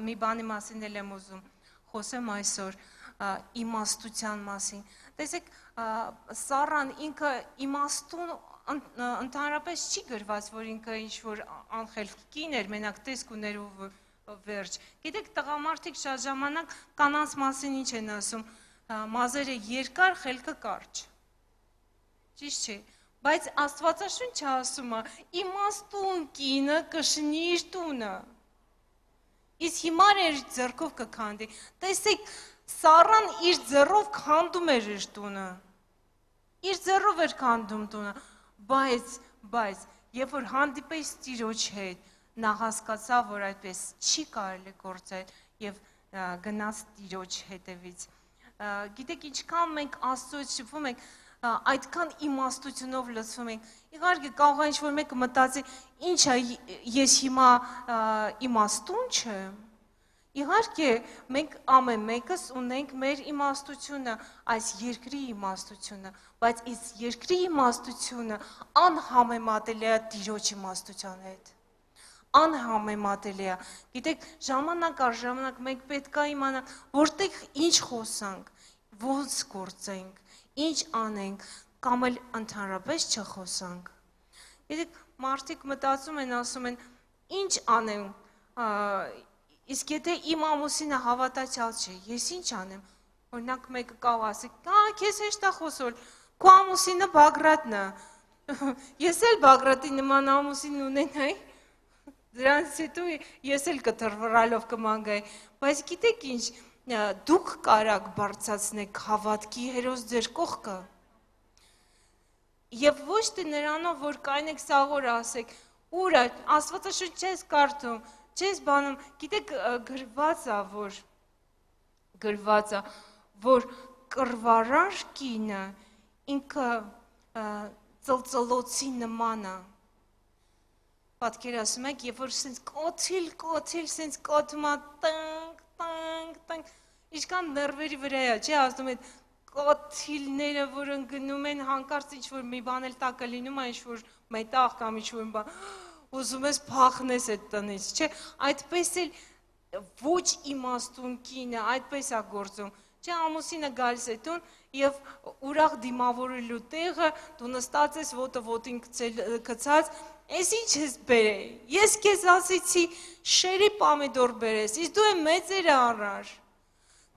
մի բանի մասին էլ եմ ուզում խոսեմ այսօր, իմաստության մասին։ Տեսեք, Սառան ինքը իմաստուն ընդհանրապես չի գրված, որ ինքը ինչ-որ անխելք կին էր, մենակ տեսք ուներ ու վերջ։ Գիտեք, տղամարդիկ շատ ժամանակ կանանց մասին ինչ են ասում, մազերը երկար, խելքը կարճ։ Ճիշտ չէ, բայց Աստվածաշունչը ասում է, իմաստուն կինը կշնի իր տունը։ Իսկ հիմար էր ձեռքով կքանդի։ Տեսեք, Սառան իր ձեռով քանդում էր իր տունը։ Իր ձեռով էր քանդում տունը, բայց, բայց, երբ որ հանդիպես Տիրոջ հետ, նա հասկացավ, որ այդպես չի կարելի գործել եւ գնաց Տիրոջ հետևից։ Գիտեք, ինչքան մենք Աստծոց շփվում ենք, այդքան իմաստությունով լցվում ենք։ Իհարկե կարող է ինչ-որ մեկը մտածի, ինչ է, ես հիմա իմաստուն չեմ։ Իհարկե, մենք ամեն մեկս ունենք մեր իմաստությունը, այս երկրի իմաստությունը, բայց այս երկրի իմաստությունը անհամեմատելի է Տիրոջ իմաստության հետ։ անհամեմատելի է։ Գիտեք, ժամանակ առ ժամանակ մենք պետք է իմանանք, որտեղ ինչ խոսանք, ոնց գործենք, ինչ անենք, կամ էլ ընդհանրապես չխոսանք։ Գիտեք, մարդիկ մտածում են, ասում են, ինչ անեմ, իսկ եթե իմ ամուսինը հավատացյալ չէ, ես ինչ անեմ, օրինակ մեկը կավ ասի, «Ա, քեզ հեշտ է խոսել, քո ամուսինը Բագրատն է»։ Ես էլ Բագրատի նման ամուսին ունենայի, դրանից հետո ես էլ կտրվռալով կմանգայի, բայց գիտեք ինչ, դուք կարաք բարձրացնեք հավատքի հերոս ձեր կողքը։ Եվ ոչ թե նրանով, որ կայնեք սաղոր ասեք, ուր է, Աստվածաշունչ չես կարդում, չես բանում, գիտեք գրված է, որ գրված է, որ կռվարար կինը ինքը ծլծլոցի նման է։ Պատկերացնում եք, երբ որ սենց կոթիլ, կոթիլ, սենց կոթում է, տանք, տանք, տանք, ինչքան նրվերի վրա է, չէ, ասում են կոթիլները, որ ընգնում են, հանկարծ ինչ-որ մի բան էլ տակը լինում է, ինչ-որ մետաղ կամ ինչ-որ բան, ուզում ես փախնես այդ տնից, չէ, այդպես էլ ոչ իմաստուն կինը, այդպես է գործում, չէ, ամուսինը գալիս է տուն և ուրախ դիմավորելու տեղը, դու նստած ես ոտը ոտին կծած, ես ինչ ես բերել, ես կեզ ասիցի շերի պամիդոր բերես, իս դու է մեծերը առար,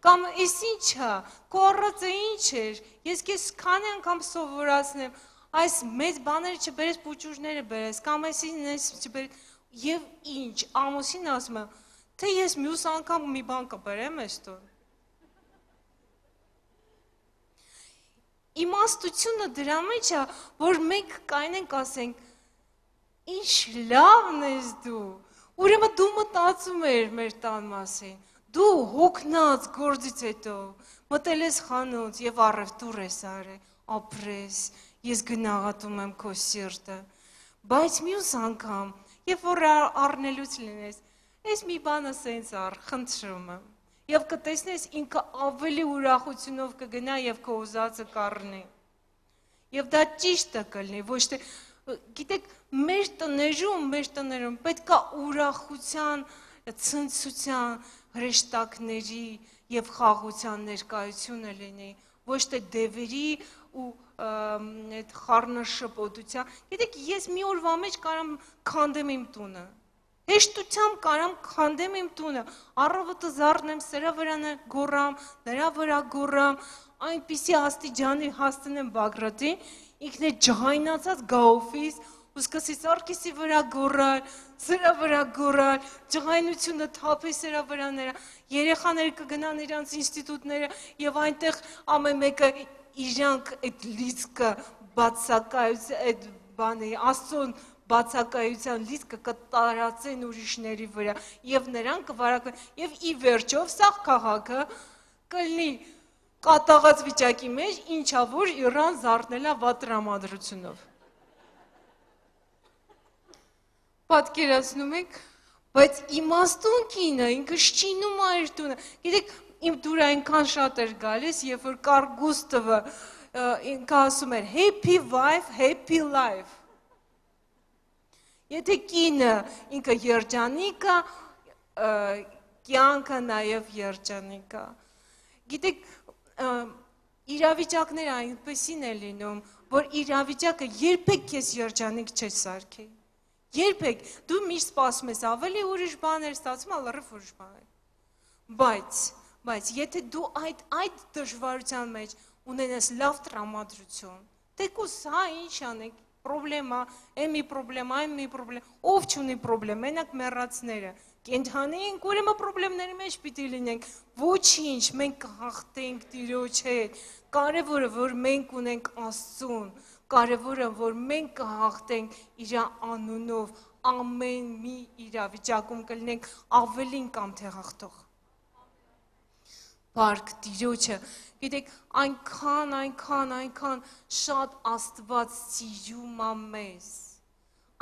կամ ես ինչ է, քո առածը ինչ էր, ես կեզ քանի անգամ սովորացնեմ, այս մեծ բաները չբերես, պուճուրները բերես, կամ այսին ես չբերես, և ինչ, ամուսին ասում եմ, թե ես մյուս անգամ մի բան կբերեմ ես տուն։ Իմաստությունը դրա մեջ է, որ մենք կայնենք ասենք, ինչ լավն ես դու, ուրեմն դու մտածում էր մեր տան մասին, դու հոգնած գործից հետո, մտել ես խանութ և առևտուր ես արել, ապրես, ես գնաղատում եմ քո սիրտը, բայց մյուս անգամ, երբ որ առնելուց լինես, ես մի բանը սենց առ, խնդրում եմ, և կտեսնես ինքը ավելի ուրախությունով կգնա և քո ուզածը կառնի, և դա ճիշտը կլինի, ոչ թե, գիտեք, մեր տներում, մեր տներում պետք է ուրախության, ցնցության, հրեշտակների և խաղաղության ներկայությունը լինի, ոչ թե դևերի ու խառնաշփոթության, գիտեք, ես մի օրվա մեջ կարամ քանդեմ իմ տունը, հեշտությամբ կարամ քանդեմ իմ տունը, առավոտը զարթնեմ, սրա վրա գոռամ, նրա վրա գոռամ, այնպիսի աստիճանի հասցնեմ Բագրատին, ինքն է ջղայնացած գա օֆիս, ու սկսի Սարգիսի վրա գոռալ, սրա վրա գոռալ, ջղայնությունը թափի սրա վրա նրա, երեխաները կգնան իրանց ինստիտուտները և այնտեղ ամեն մեկը իրանք այդ լիցքը բացակայության, այդ բանի, աստծուն բացակայության լիցքը կտարածեն ուրիշների վրա և նրան կվարակեն և ի վերջով սաղ քաղաքը կլինի կատաղած վիճակի մեջ, ինչա որ Իրան զարթնելա վատ տրամադրությունով։ Պատկերացնում եք, բայց իմաստուն կինը, ինքը շինում է իր տունը, գիտեք, իմ դուր այնքան շատ էր գալիս, երբ որ Կարլ Գուստավը ինքը ասում էր happy wife, happy life։ Եթե կինը ինքը երջանիկ է, կյանքը նաև երջանիկ է։ Գիտեք, իրավիճակները այնպեսին է լինում, որ իրավիճակը երբեք քեզ երջանիկ չի սարքի։ Երբեք, դու միշտ սպասում ես ավելի ուրիշ բաներ, ստացվում է լրիվ ուրիշ բաներ։ Բայց, բայց եթե դու այդ այդ դժվարության մեջ ունենես լավ տրամադրություն, թեկուզ հա ինչ անեք, պրոբլեմա, այն մի պրոբլեմա, այն մի պրոբլեմ, ով չունի պրոբլեմ, մենակ մեռածները, կենդանի ենք, ուրեմն պրոբլեմների մեջ պիտի լինենք, ոչինչ, մենք կհաղթենք Տիրոջ հետ, կարևորը, որ մենք ունենք Աստծուն, կարևորը, որ մենք կհաղթենք իր անունով, ամեն մի իրավիճակում կլինենք ավելին կամ թե հաղթող։ Բարք Տիրոջը, գիտեք, այնքան, այնքան, այնքան շատ Աստված սիրում է մեզ,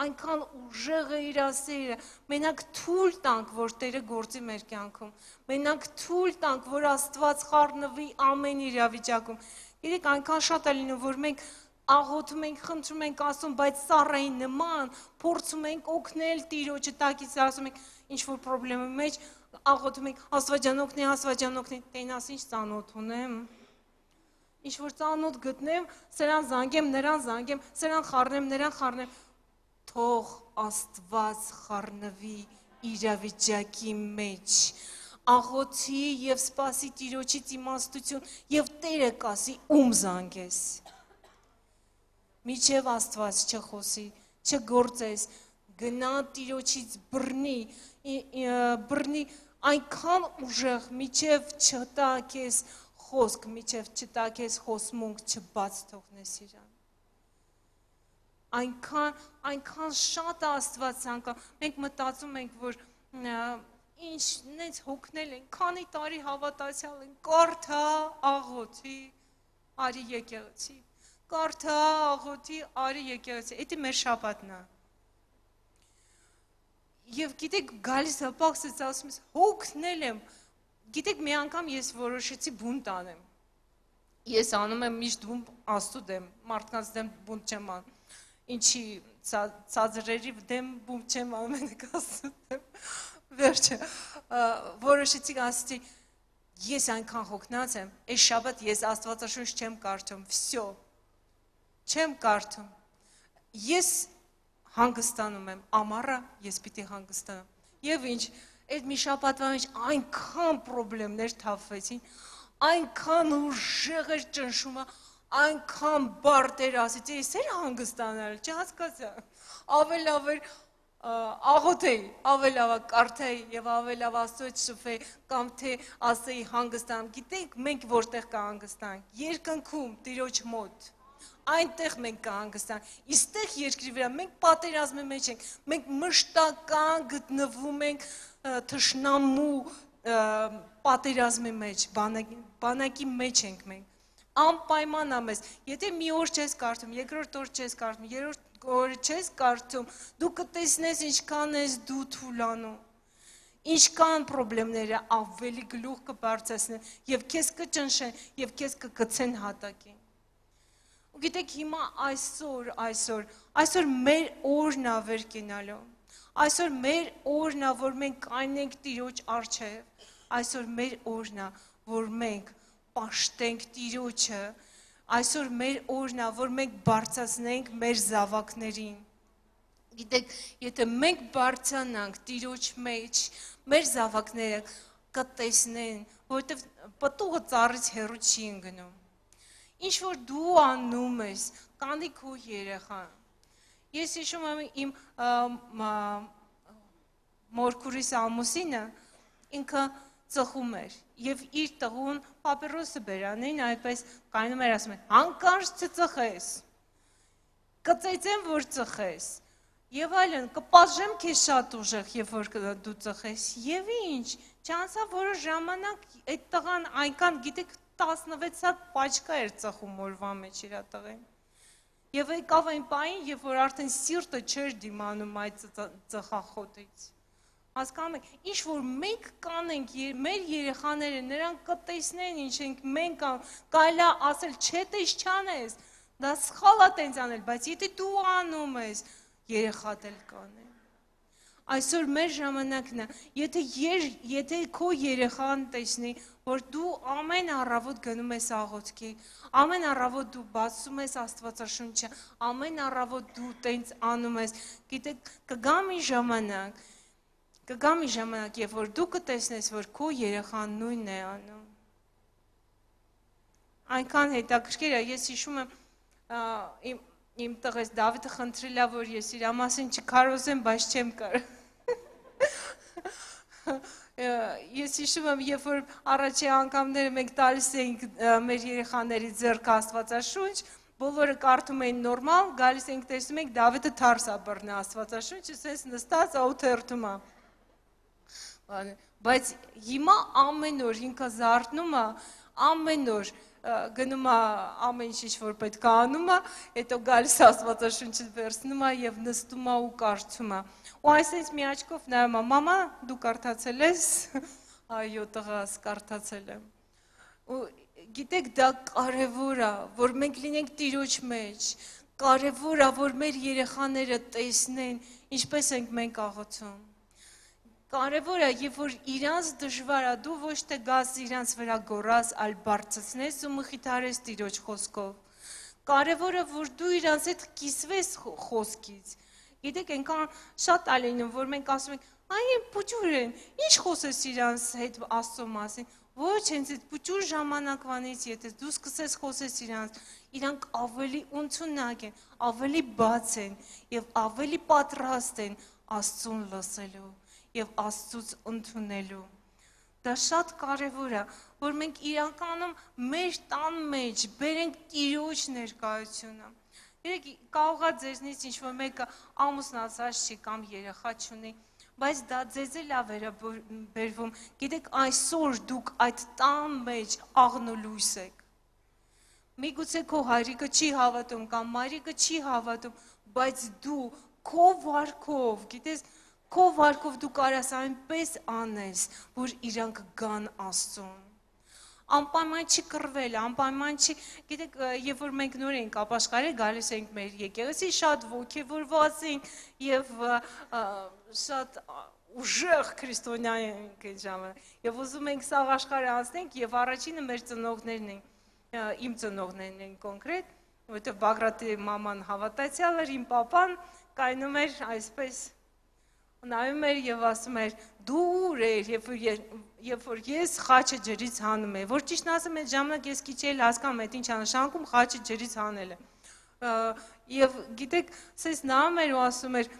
այնքան ուժեղ է իր սերը, մենակ թույլ տանք, որ Տերը գործի մեր կյանքում, մենակ թույլ տանք, որ Աստված խառնվի ամեն իրավիճակում։ Գիտեք, այնքան շատ է լինում, որ մենք աղոթում ենք, խնդրում ենք ասում, բայց սառայի նման, փորձում ենք օգնել Տիրոջը, տակից ասում ենք, ինչ-որ պրոբլեմի մեջ, աղոթում ենք, Աստվածան օգնի, Աստվածան օգնի, տենաս ինչ ծանոթ ունեմ, ինչ-որ ծանոթ գտնեմ, սրան զանգեմ, նրան զանգեմ, սրան խառնեմ, նրան խառնեմ, թող Աստված խառնվի իրավիճակի մեջ, աղոթի և սպասի Տիրոջից իմաստություն և Տերը կասի ում զանգես, միջև Աստված չխոսի, չգործես, գնա Տիրոջից բռնի, բռնի այնքան ուժեղ, միջև չտա քեզ խոսք, միջև չտա քեզ խոսմունք, չբաց թողնես իրան։ Այնքան, այնքան շատ է Աստված ցանկանում, մենք մտածում ենք, որ ինչ նենց հոգնել են, քանի տարի հավատացյալ են, կարդա աղոթի, արի եկեղեցի, կարդա աղոթի, արի եկեղեցի, էդի մեր շաբաթն է։ Եվ գիտեք, գալիս հպաղսից ասում ես, հոգնել եմ, գիտեք, մի անգամ ես որոշեցի բունտ անեմ, ես անում եմ միշտ բունտ Աստծու դեմ, մարդկանց դեմ բունտ չեմ անում, ինչի ցածրերի դեմ բունտ չեմ անում, ենք Աստծու դեմ, վերջը, որոշեցի ասեցի, ես այնքան հոգնած եմ, այս շաբաթ ես Աստվածաշունչ չեմ կարդում, վсё, չեմ կարդում, ես հանգստանում եմ, ամառը ես պիտի հանգստանամ, և ինչ, այդ մի շաբաթվա մեջ այնքան պրոբլեմներ թափվեցին, այնքան ուժեղ էր ճնշումը, այնքան բարդ էր ասեցի, ես էր հանգստանալ, չհասկացա, ավել ավել աղոթեի, ավել ավա կարդեի և ավել ավա Աստծոյց շփվեի, կամ թե ասեի հանգստանամ, գիտենք մենք որտեղ կհանգստանանք, երկնքում Տիրոջ մոտ, այնտեղ մենք կհանգստանանք, իստեղ երկրի վրա մենք պատերազմի մեջ ենք, մենք մշտական գտնվում ենք թշնամու պատերազմի մեջ, բանակի մեջ ենք մենք, անպայման ամես, եթե մի օր չես կարդում, երկրորդ օր չես կարդում, երրորդ օր չես կարդում, դու կտեսնես ինչքան ես դու թուլանում, ինչքան պրոբլեմները ավելի գլուխ կբարձրացնեն և քեզ կճնշեն և քեզ կգցեն հատակին։ Ու գիտեք հիմա այսօր, այսօր, այսօր մեր օրն է վեր կենալու, այսօր մեր օրն է, որ մենք կայնենք Տիրոջ առջև, այսօր մեր օրն է, որ մենք պաշտենք Տիրոջը, այսօր մեր օրն է, որ մենք բարձրացնենք մեր զավակներին։ Գիտեք, եթե մենք բարձրանանք Տիրոջ մեջ, մեր զավակները կտեսնեն, որովհետև պտուղը ծառից հեռու չի ընկնում։ Ինչ որ դու անում ես, կանի քո երեխան։ Ես հիշում եմ իմ մորքուրիս ամուսինը, ինքը ծխում էր և իր տղուն պապիրոսը բերանին, այդպես կայնում էր ասում է, հանկարծ չծխես, կծեծեմ, որ ծխես, և այլն, կպաշեմ քեզ շատ ուժեղ, և որ դու ծխես, և ինչ, չանցա որը ժամանակ այդ տղան այնքան, գիտեք, տասնվեց հատ պաչկա էր ծխում օրվա մեջ իր տղեն, և եկավ այն պահին, երբ որ արդեն սիրտը չէր դիմանում այդ ծխախոտից, հասկանում եք, ինչ որ մենք կանենք, մեր երեխաները, նրանք կտեսնեն ինչ ենք մենք կարելի է ասել, չէ տես չանես, դա սխալ է տենց անել, բայց եթե դու անում ես, երեխադ էլ կանեն։ Այսօր մեր ժամանակն է, եթե, եթե քո երեխան տեսնի, որ դու ամեն առավոտ գնում ես աղոթքի, ամեն առավոտ դու բացում ես Աստվածաշունչը, ամեն առավոտ դու տենց անում ես, գիտեք, կգա մի ժամանակ, կգա մի ժամանակ, երբ որ դու կտեսնես, որ քո երեխան նույնն է անում։ Այնքան հետաքրքիր է, ես հիշում եմ իմ Իմ տղես Դավիթը խնդրել է, որ ես իր մասին չքարոզեմ, բայց չեմ կարող։ Ես հիշում եմ, երբ որ առաջի անգամները մենք տալիս էինք մեր երեխաների ձեռքը Աստվածաշունչ, բոլորը կարդում էին նորմալ, գալիս էինք տեսնում ենք Դավիթը թարս է բռնում Աստվածաշունչը, սենց նստած աութերթում է։ Բայց հիմա ամեն օր ինքը զարթնում է, ամեն օր գնում է ամեն ինչ որ պետք է անում է, հետո գալիս Աստվածաշունչը վերցնում է և նստում է ու կարդում է։ Ու այսպես մի աչքով նայում է, մամա, դու կարդացել ես, այո տղաս, կարդացել եմ։ Ու գիտեք դա կարևոր է, որ մենք լինենք Տիրոջ մեջ, կարևոր է, որ մեր երեխաները տեսնեն, ինչպես ենք մենք աղոթում։ Կարևոր է, երբ որ իրանց դժվար է, դու ոչ թե գաս իրանց վրա գոռաս, այլ բարձրացնես ու մխիթարես Տիրոջ խոսքով։ Կարևոր է, որ դու իրանց հետ կիսվես խոսքից։ Գիտեք, այնքան շատ է լինում, որ մենք ասում ենք, այ փուճուր են, ինչ խոսես իրանց հետ Աստծո մասին։ Ոչ, հենց այդ փուճուր ժամանակվանից, եթե դու սկսես խոսես իրանց, իրանք ավելի ընդունակ են, ավելի բաց են եւ ավելի պատրաստ են Աստծուն լսելու եւ Աստծուց ընդունելու։ Դա շատ կարևոր է, որ մենք իրականում մեր տան մեջ բերենք Տիրոջ ներկայությունը։ Երեք կարող է ձեզնից ինչ-որ մեկը ամուսնացած չի կամ երեխա չունի, բայց դա ձեզ էլ է վերաբերվում։ Գիտեք, այսօր դուք այդ տան մեջ աղնոլույս եք։ Միգուցե քո հայրիկը չի հավատում կամ մայրիկը չի հավատում, բայց դու քո վարքով, գիտես, քո վարքով դու կարաս այնպես անես, որ իրանք գան Աստծուն։ Անպայման չի կռվել, անպայման չի, գիտեք, երբ որ մենք նոր ենք ապաշխարել, գալիս ենք մեր եկեղեցի, շատ ոգևորված ենք եւ շատ ուժեղ քրիստոնյա ենք այդ ժամանակ։ Եվ ուզում ենք սաղ աշխարհը անցնենք եւ առաջինը մեր ծնողներն են, իմ ծնողներն են կոնկրետ, որովհետեւ Բագրատի մաման հավատացյալ էր, իմ պապան կայնում էր այսպես նայում էր եւ ասում էր դու ուր ես, երբ որ ես խաչը ջրից հանում եմ, որ ճիշտն ասեմ, այդ ժամանակ ես քիչ էլ հասկանում եմ, ինչ նշանակում խաչը ջրից հանելը։ Եվ գիտեք, սես նայում էր ու ասում էր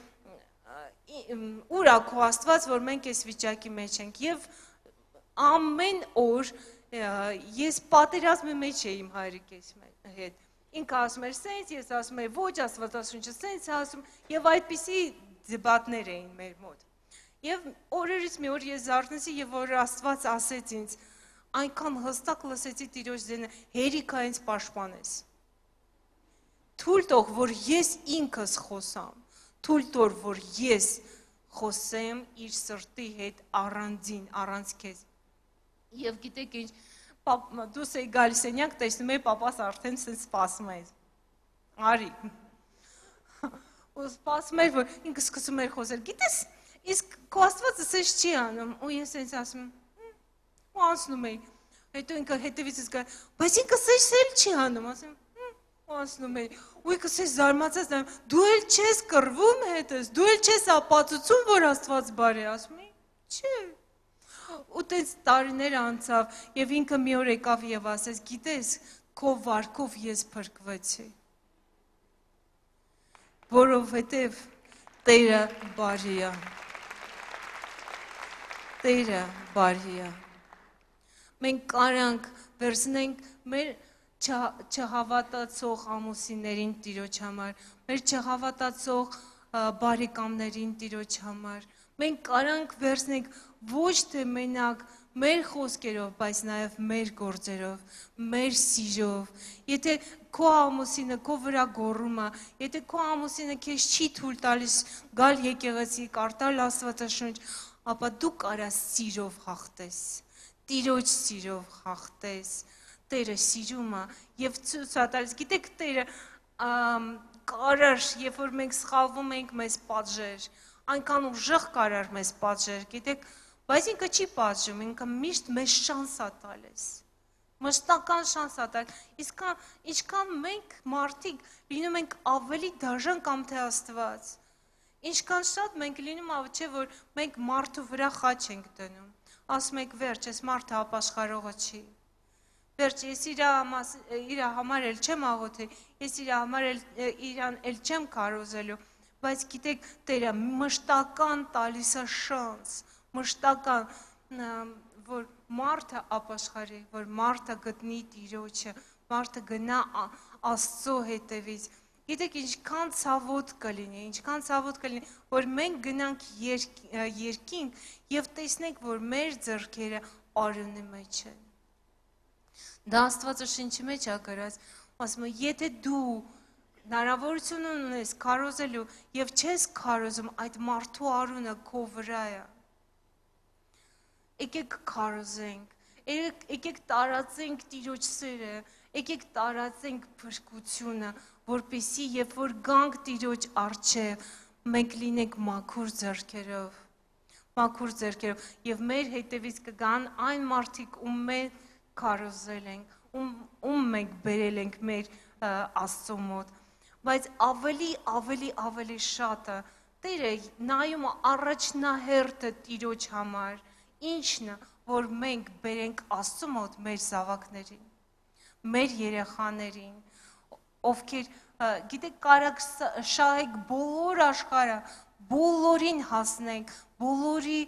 ուր է քո Աստված, որ մենք այս վիճակի մեջ ենք։ Եվ ամեն օր ես պատերազմի մեջ էի իմ հայրիկիս հետ։ Ինքը ասում էր սենց, ես ասում եմ ոչ, Աստվածաշունչը սենց է ասում, եւ այդպիսի դեբատներ էին մեր մոտ։ Եվ օրերից մի օր ես զարթնեցի եւ որ Աստված ասեց ինձ, այնքան հստակ լսեցի Տիրոջ ձայնը, հերիքա ինձ պաշտպանես։ Թույլ տող, որ ես ինքս խոսամ, թույլ տոր, որ ես խոսեմ իր սրտի հետ առանձին, առանց քեզ։ Եվ գիտեք ինչ, դուս էի գալիս սենյակ, տեսնում էի պապաս արդեն սենց սպասում է։ Արի։ Ու սպասում էր, որ ինքը սկսում էր խոսել, գիտես, իսկ քո Աստվածը սենց չի անում, ու ես սենց ասում եմ, ու անցնում էի, հետո ինքը հետևիցս գա, բայց ինքը սենց էլ չի անում, ասում եմ, ու անցնում էի, ու ինքը սենց զարմացած նայում, դու էլ չես կռվում հետս, դու էլ չես ապացուցում, որ Աստված բարի է, ասում եմ, չէ, ու տենց տարիներ անցավ, եւ ինքը մի օր եկավ եւ ասեց, գիտես, քո վարքով ես փրկվեցի։ Որովհետև Տերը բարի է, Տերը բարի է։ Մենք կարանք վերցնենք մեր չհավատացող ամուսիններին Տիրոջ համար, մեր չհավատացող բարեկամներին Տիրոջ համար։ Մենք կարանք վերցնենք ոչ թե մենակ մեր խոսքերով, բայց նաև մեր գործերով, մեր սիրով։ Եթե քո ամուսինը քո վրա գոռում է, եթե քո ամուսինը քեզ չի թույլ տալիս գալ եկեղեցի, կարդալ Աստվածաշունչ, ապա դու կարաս սիրով հաղթես, Տիրոջ սիրով հաղթես։ Տերը սիրում է եւ ցույց է տալիս, գիտեք, Տերը կարար, երբ որ մենք սխալվում ենք, մեզ պատժեր, այնքան ուժեղ կարար մեզ պատժեր, գիտեք, բայց ինքը չի պատժում, ինքը միշտ մեզ շանս է տալիս, մշտական շանս է տալիս, իսկ ինչքան մենք մարդիկ լինում ենք ավելի դաժան կամ թե Աստված, ինչքան շատ մենք լինում ավ չէ, որ մենք մարդու վրա խաչ ենք դնում, ասում ենք վերջ, ես մարդը ապաշխարողը չի, վերջ, ես իր համար էլ չեմ աղոթել, ես իր համար իրան էլ չեմ քարոզելու, բայց գիտեք, Տերը մշտական տալիս է շանս, մշտական, որ մարդը ապաշխարի, որ մարդը գտնի Տիրոջը, մարդը գնա Աստծո հետևից։ Գիտեք, ինչքան ցավոտ կլինի, ինչքան ցավոտ կլինի, որ մենք գնանք երկինք եւ տեսնենք, որ մեր ձեռքերը արյունի մեջ են։ Դա Աստվածաշնչի մեջ է գրած, ասում է, եթե դու հնարավորություն ունես քարոզելու եւ չես քարոզում, այդ մարդու արյունը քո վրա է։ Եկեք քարոզենք, եկեք տարածենք Տիրոջ սերը, եկեք տարածենք փրկությունը, որպեսզի երբ որ գանք Տիրոջ առջև, մենք լինենք մաքուր ձեռքերով, մաքուր ձեռքերով, եւ մեր հետևից կգան այն մարդիկ, ում մենք քարոզել ենք, ում ում մենք բերել ենք մեր Աստծո մոտ, բայց ավելի ավելի ավելի շատը Տերը նայում առաջնահերթը Տիրոջ համար, ինչն է, որ մենք բերենք Աստծո մոտ մեր զավակներին, մեր երեխաներին, ովքեր գիտեք կարակ շահեք բոլոր աշխարհը, բոլորին հասնենք, բոլորի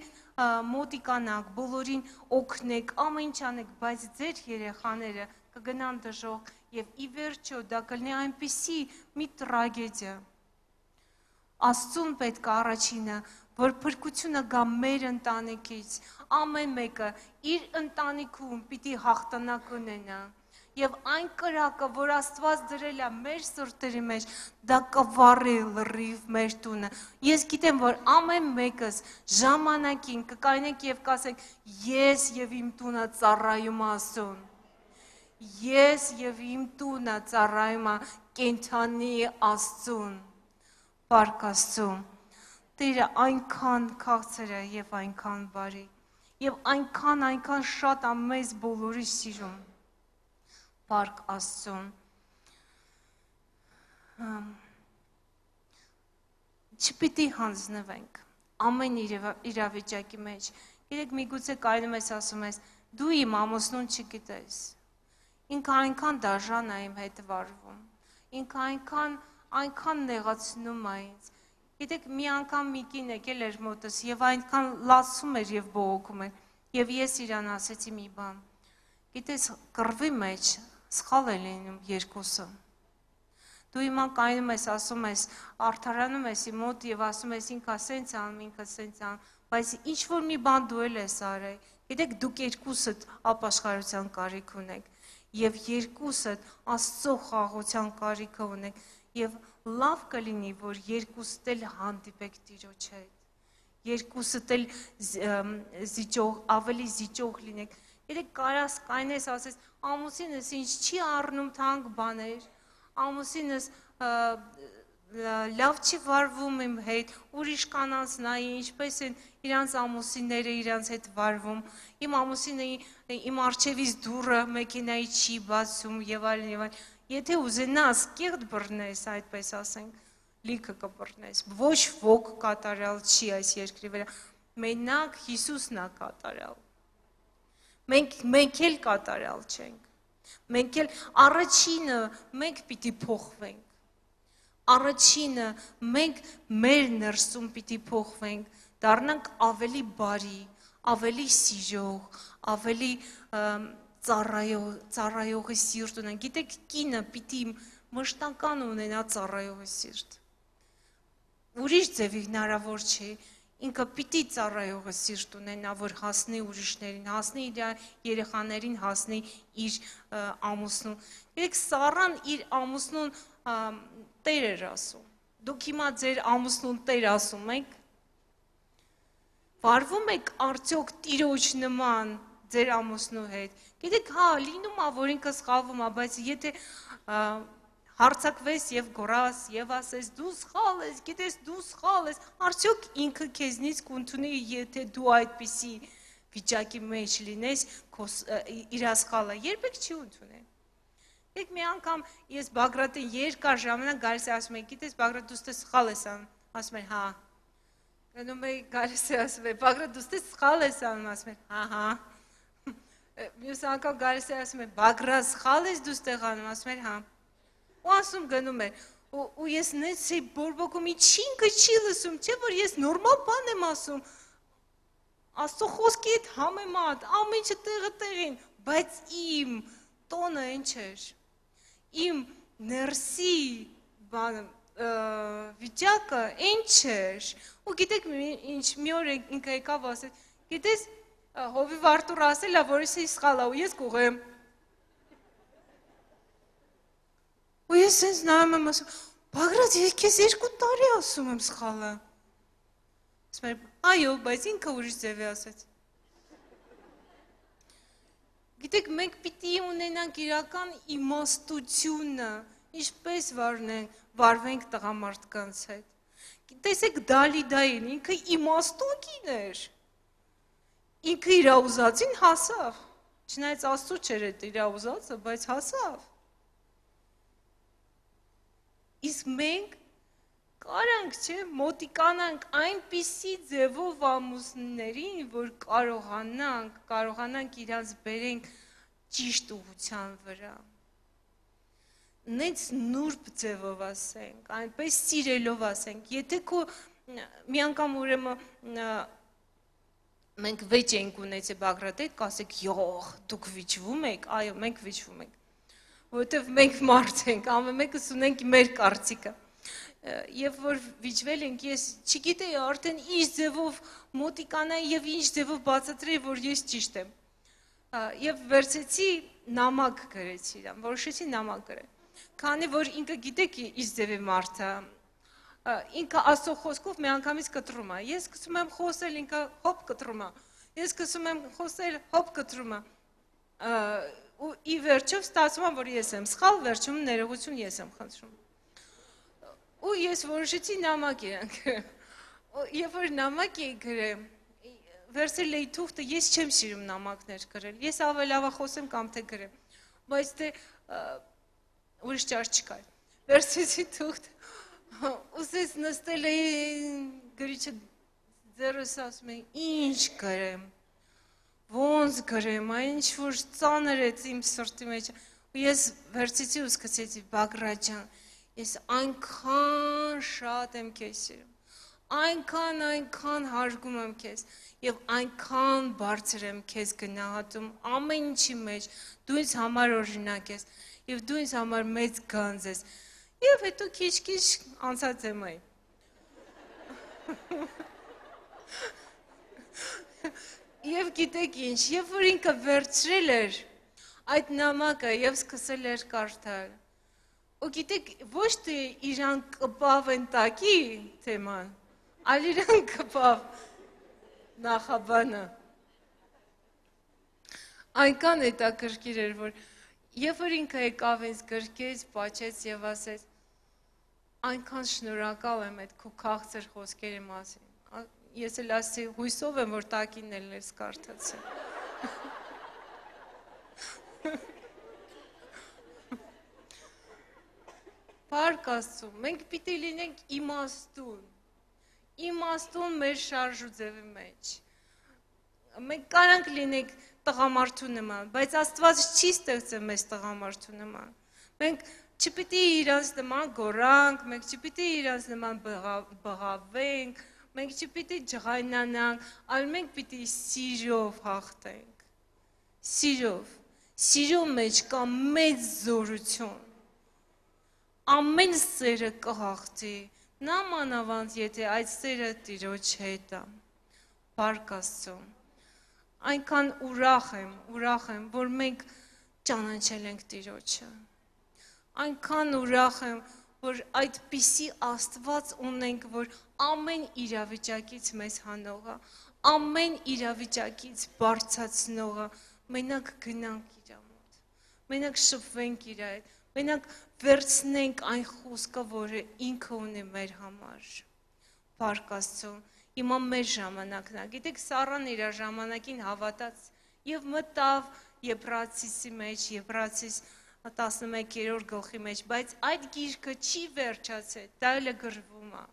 մոտիկանանք, բոլորին օգնեք, ամեն ինչ անեք, բայց ձեր երեխաները կգնան դժոխք եւ ի վերջո դա կլինի այնպիսի մի տրագեդիա։ Աստծուն պետք է առաջինը, որ փրկությունը գա մեր ընտանիքից, ամեն մեկը իր ընտանիքում պիտի հաղթանակ ունենա, եւ այն կրակը, որ Աստված դրել է մեր սրտերի մեջ, դա կվառի լրիվ մեր տունը։ Ես գիտեմ, որ ամեն մեկս ժամանակին կկայնենք եւ կասենք, ես եւ իմ տունը ծառայում Աստծուն։ Ես եւ իմ տունը ծառայում է կենդանի Աստծուն։ Փառք Աստծուն։ Տերը այնքան քաղցր է եւ այնքան բարի, եւ այնքան այնքան շատ է մեզ բոլորի սիրում։ Փառք Աստծուն։ Չպիտի հանձնվենք ամեն իրավիճակի մեջ։ Գիտեք, միգուցե կայնում ես ասում ես, դու իմ ամուսնուն չգիտես։ Ինքը այնքան դաժան է իմ հետ վարվում, ինքը այնքան, այնքան նեղացնում է ինձ։ Գիտեք, մի անգամ մի կին եկել էր մոտս եւ այնքան լացում էր եւ բողոքում էր, եւ ես իրան ասեցի մի բան։ Գիտես, կռվի մեջ սխալ է լինում երկուսը։ Դու հիմա կայնում ես, ասում ես, արդարանում ես իմ մոտ եւ ասում ես ինքը սենց անում, ինքը սենց անում, բայց ինչ որ մի բան դու էլ ես արել։ Գիտեք, դուք երկուսդ ապաշխարության կարիք ունեք։ Եվ երկուսդ Աստծո խաղաղության կարիքը ունեք, եւ լավ կլինի, որ երկուսդ էլ հանդիպեք Տիրոջ հետ, երկուսդ էլ զիջող, ավելի զիջող լինեք։ Երեք կարաս կայնես ասես, ամուսինս ինձ չի առնում թանկ բաներ, ամուսինս լավ չի վարվում իմ հետ, ուրիշ կանանց նայի, ինչպես են իրանց ամուսինները իրանց հետ վարվում, իմ ամուսինը իմ արջևից դուռը մեքենայի չի բացում եւ այլն եւ այլն։ Եթե ուզենաս կեղտ բռնես, այդպես ասենք, լիքը կբռնես։ Ոչ ոք կատարյալ չի այս երկրի վրա։ Մենակ Հիսուսն է կատարյալ։ Մենք մենք էլ կատարյալ չենք։ Մենք էլ առաջինը մենք պիտի փոխվենք։ Առաջինը մենք մեր ներսում պիտի փոխվենք, դառնանք ավելի բարի, ավելի սիրող, ավելի ծառայող, ծառայողի սիրտ ունենք։ Գիտեք, կինը պիտի մշտական ունենա ծառայողի սիրտ։ Ուրիշ ձևի հնարավոր չէ, ինքը պիտի ծառայողի սիրտ ունենա, որ հասնի ուրիշներին, հասնի իր երեխաներին, հասնի իր ամուսնուն։ Գիտեք, Սառան իր ամուսնուն Տեր էր ասում, դուք հիմա ձեր ամուսնուն Տեր ասում եք, վարվում եք արդյոք Տիրոջ նման ձեր ամուսնու հետ, գիտեք, հա, լինում է, որ ինքը սխալվում է, բայց եթե հարցակվես եւ գոռաս եւ ասես դու սխալ ես, գիտես դու սխալ ես, արդյոք ինքը քեզնից կընդունի, եթե դու այդպիսի վիճակի մեջ լինես, իր սխալը երբեք չի ընդունել։ Եկ մի անգամ ես Բագրատին երկար ժամանակ գալիս է ասում եմ, գիտես Բագրատ դու ստե սխալ ես անում, ասում եմ, հա։ Գնում եմ գալիս է ասում եմ, Բագրատ դու ստե սխալ ես անում, ասում եմ, հա, հա։ Մյուս անգամ գալիս է ասում եմ, Բագրատ սխալ ես դու ստեղ անում, ասում եմ, հա։ Ու ասում գնում է, ու ես նենց էի բորբոքում, ինչի ինքը չի լսում, չէ՞ որ ես նորմալ բան եմ ասում։ Աստծո խոսքի հետ համեմատ, ամեն ինչը տեղը տեղին, բայց իմ տոնը ինչ էր։ Իմ ներսի վիճակը ինչ էր, ու գիտեք ինչ մի օր ինքը եկավ ասել, գիտես Հովիվ Արտուր ասել է, որ ես սխալ եմ, ու ես կուղեմ։ Ու ես սենց նայում եմ ասում, Բագրատ, ես քեզ երկու տարի ասում եմ սխալը։ Ասում եմ, այո, բայց ինքը ուրիշ ձև է ասեց։ Գիտեք, մենք պիտի ունենանք իրական իմաստությունը, ինչպես վարնենք, վարվենք տղամարդկանց հետ։ Տեսեք Դալիդային, ինքը իմաստուն կին էր։ Ինքը իր ուզածին հասավ։ Չնայած Աստծո չէր այդ իր ուզածը, բայց հասավ։ Իսկ մենք կարանք, չէ, մոտիկանանք այնպիսի ձևով ամուսններին, որ կարողանանք, կարողանանք իրանց բերենք ճիշտ ուղղության վրա։ Նենց նուրբ ձևով ասենք, այնպես սիրելով ասենք, եթե քո մի անգամ ուրեմն մենք վեճ ենք ունեցել Բագրատի հետ, կասեք, յոխ, դուք վիճվում եք, այո, մենք վիճվում ենք, որովհետև մենք մարդ ենք, ամեն մեկս ունենք մեր կարծիքը, և որ վիճվել ենք, ես չգիտեի արդեն ինչ ձևով մոտիկանայի և ինչ ձևով բացատրեի, որ ես ճիշտ եմ, և վերցեցի նամակ գրեցի իրան, որոշեցի նամակ գրել, քանի որ ինքը գիտեք ինչ ձև է մարդը, ինքը Աստծո խոսքով մի անգամից կտրում է, ես սկսում եմ խոսել, ինքը հոպ կտրում է, ես սկսում եմ խոսել, հոպ կտրում է, ու ի վերջով ստացվում է, որ ես եմ սխալ, վերջում ներողություն ես եմ խնդրում, ու ես որոշեցի նամակ իրան գրել, երբ որ նամակ էի գրել, վերցրել էի թուղթը, ես չեմ սիրում նամակներ գրել, ես ավելավախոսեմ կամ թե գրեմ, բայց թե ուրիշ ճար չկար, վերցրեցի թուղթը, Ուսես նստել էի գրիչը ձեռս ասում էի, ինչ գրեմ, ոնց գրեմ, այն ինչ որ ծանր է իմ սրտի մեջ, ու ես վերցեցի ու սկսեցի Բագրատ ջան, ես այնքան շատ եմ քեզ սիրում, այնքան, այնքան հարգում եմ քեզ, և այնքան բարձր եմ քեզ գնահատում ամեն ինչի մեջ, դու ինձ համար օրինակ ես, և դու ինձ համար մեծ գանձ ես, Եվ հետո քիչ-քիչ անցած եմ այ։ Եվ գիտեք ինչ, երբ որ ինքը վերցրել էր այդ նամակը և սկսել էր կարդալ, ու գիտեք, ոչ թե իրան կպավ են տակի թեման, այլ իրան կպավ նախաբանը։ Այնքան հետաքրքիր էր, որ Եվ որ ինքը եկավ ինձ գրկեց, պաչեց և ասեց, այնքան շնորհակալ եմ այդ քո քաղցր խոսքերի մասին, ես էլ ասեցի, հույսով եմ, որ տակին էլ ես կարդացել։ Փառք Աստծո, մենք պիտի լինենք իմաստուն, իմաստուն մեր շարժ ու ձևի մեջ, մենք կարանք լինենք տղամարդու նման, բայց Աստված չի ստեղծել մեզ տղամարդու նման, մենք չպիտի իրանց նման գորանք, մենք չպիտի իրանց նման բղավենք, մենք չպիտի ջղայնանանք, այլ մենք պիտի սիրով հաղթենք, սիրով, սիրո մեջ կա մեծ զորություն, ամեն սերը կհաղթի, նա մանավանդ, եթե այդ սերը Տիրոջ հետ է, Փառք Աստծո, այնքան ուրախ եմ, ուրախ եմ, որ մենք ճանաչել ենք Տիրոջը, այնքան ուրախ եմ, որ այդպիսի Աստված ունենք, որ ամեն իրավիճակից մեզ հանողը, ամեն իրավիճակից բարձրացնողը, մենակ գնանք իր մոտ, մենակ շփվենք իր հետ, մենակ վերցնենք այն խոսքը, որը ինքը ունի մեր համար, Փառք Աստծո, Հիմա մեր ժամանակն է, գիտեք Սառան իր ժամանակին հավատաց և մտավ Եբրացիսի մեջ, Եբրացիս տասնմեկերորդ գլխի մեջ, բայց այդ գիրքը չի վերջացել, դա էլ գրվում է։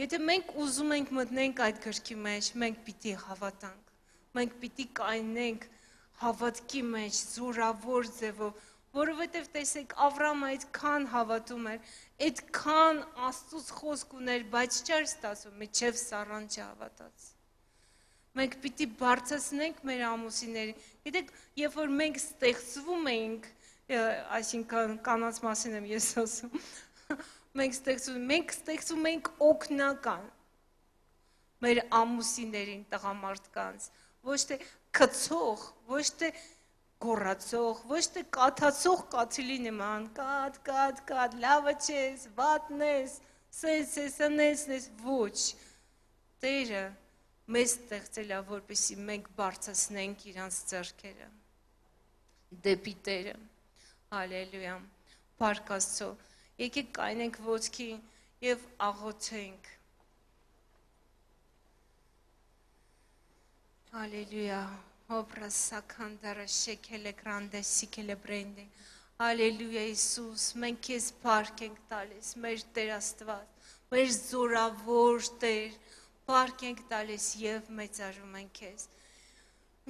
Եթե մենք ուզում ենք մտնենք այդ գրքի մեջ, մենք պիտի հավատանք, մենք պիտի կայնենք հավատքի մեջ, զորավոր ձևով, որովհետև տեսեք Ավրամը այդքան հավատում էր, այդքան Աստծուց խոսք ուներ, բայց չէր ստացվում, մինչև Սառան չհավատաց։ Մենք պիտի բարձրացնենք մեր ամուսիններին։ Գիտեք, երբ որ մենք ստեղծվում ենք, այսինքն կանանց մասին եմ ես ասում, մենք ստեղծում, մենք ստեղծում ենք օգնական մեր ամուսիններին, տղամարդկանց, ոչ թե քցող, ոչ թե գոռացող, ոչ թե կաթացող կաթիլի նման, կաթ, կաթ, կաթ, լավը չես, վատն ես, սես ես, անես ես, ոչ, Տերը մեզ ստեղծել է, որպեսզի մենք բարձրացնենք իրանց ձեռքերը դեպի Տերը։ Հալելույա։ Փառք Աստծո։ Եկեք կայնենք ոտքի եւ աղոթենք։ Հալելույա։ Հոբրասականդարա շեկելե գրանդե սիկելե բրենդե։ Հալելույա Հիսուս, մենք քեզ փառք ենք տալիս, մեր Տեր Աստված, մեր զորավոր Տեր, փառք ենք տալիս եւ մեծարում ենք քեզ։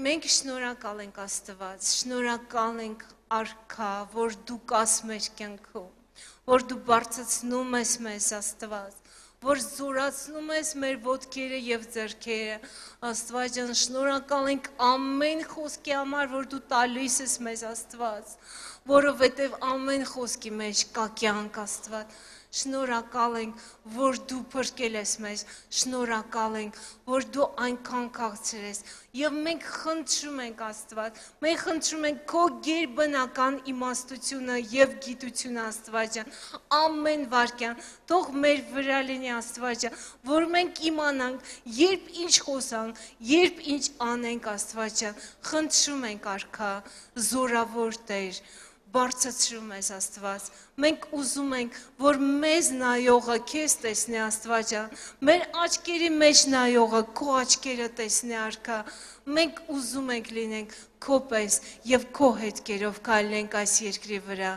Մենք շնորհակալ ենք Աստված, շնորհակալ ենք Արքա, որ դու կաս մեր կյանքում, որ դու բարձրացնում ես մեզ Աստված, որ զորացնում ես մեր ոտքերը եւ ձեռքերը։ Աստված ջան, շնորհակալ ենք ամեն խոսքի համար, որ դու տալիս ես մեզ Աստված, որովհետեւ ամեն խոսքի մեջ կա կյանք Աստված։ Շնորհակալ ենք, որ դու փրկել ես մեզ, շնորհակալ ենք, որ դու այնքան քաղցր ես, եւ մենք խնդրում ենք Աստված, մենք խնդրում ենք քո գերբնական իմաստությունը եւ գիտությունը Աստված ջան, ամեն վարքյան, թող մեր վրա լինի Աստված ջան, որ մենք իմանանք, երբ ինչ խոսանք, երբ ինչ անենք Աստված ջան, խնդրում ենք Արքա, զորավոր Տեր, բարձրացրում ես Աստված, մենք ուզում ենք, որ մեզ նայողը քեզ տեսնի Աստված ջան, մեր աչքերի մեջ նայողը քո աչքերը տեսնի Արքա, մենք ուզում ենք լինենք քո պես եւ քո հետքերով քայլենք այս երկրի վրա,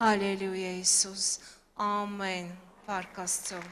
հալելույա Հիսուս, ամեն, փառք Աստծո։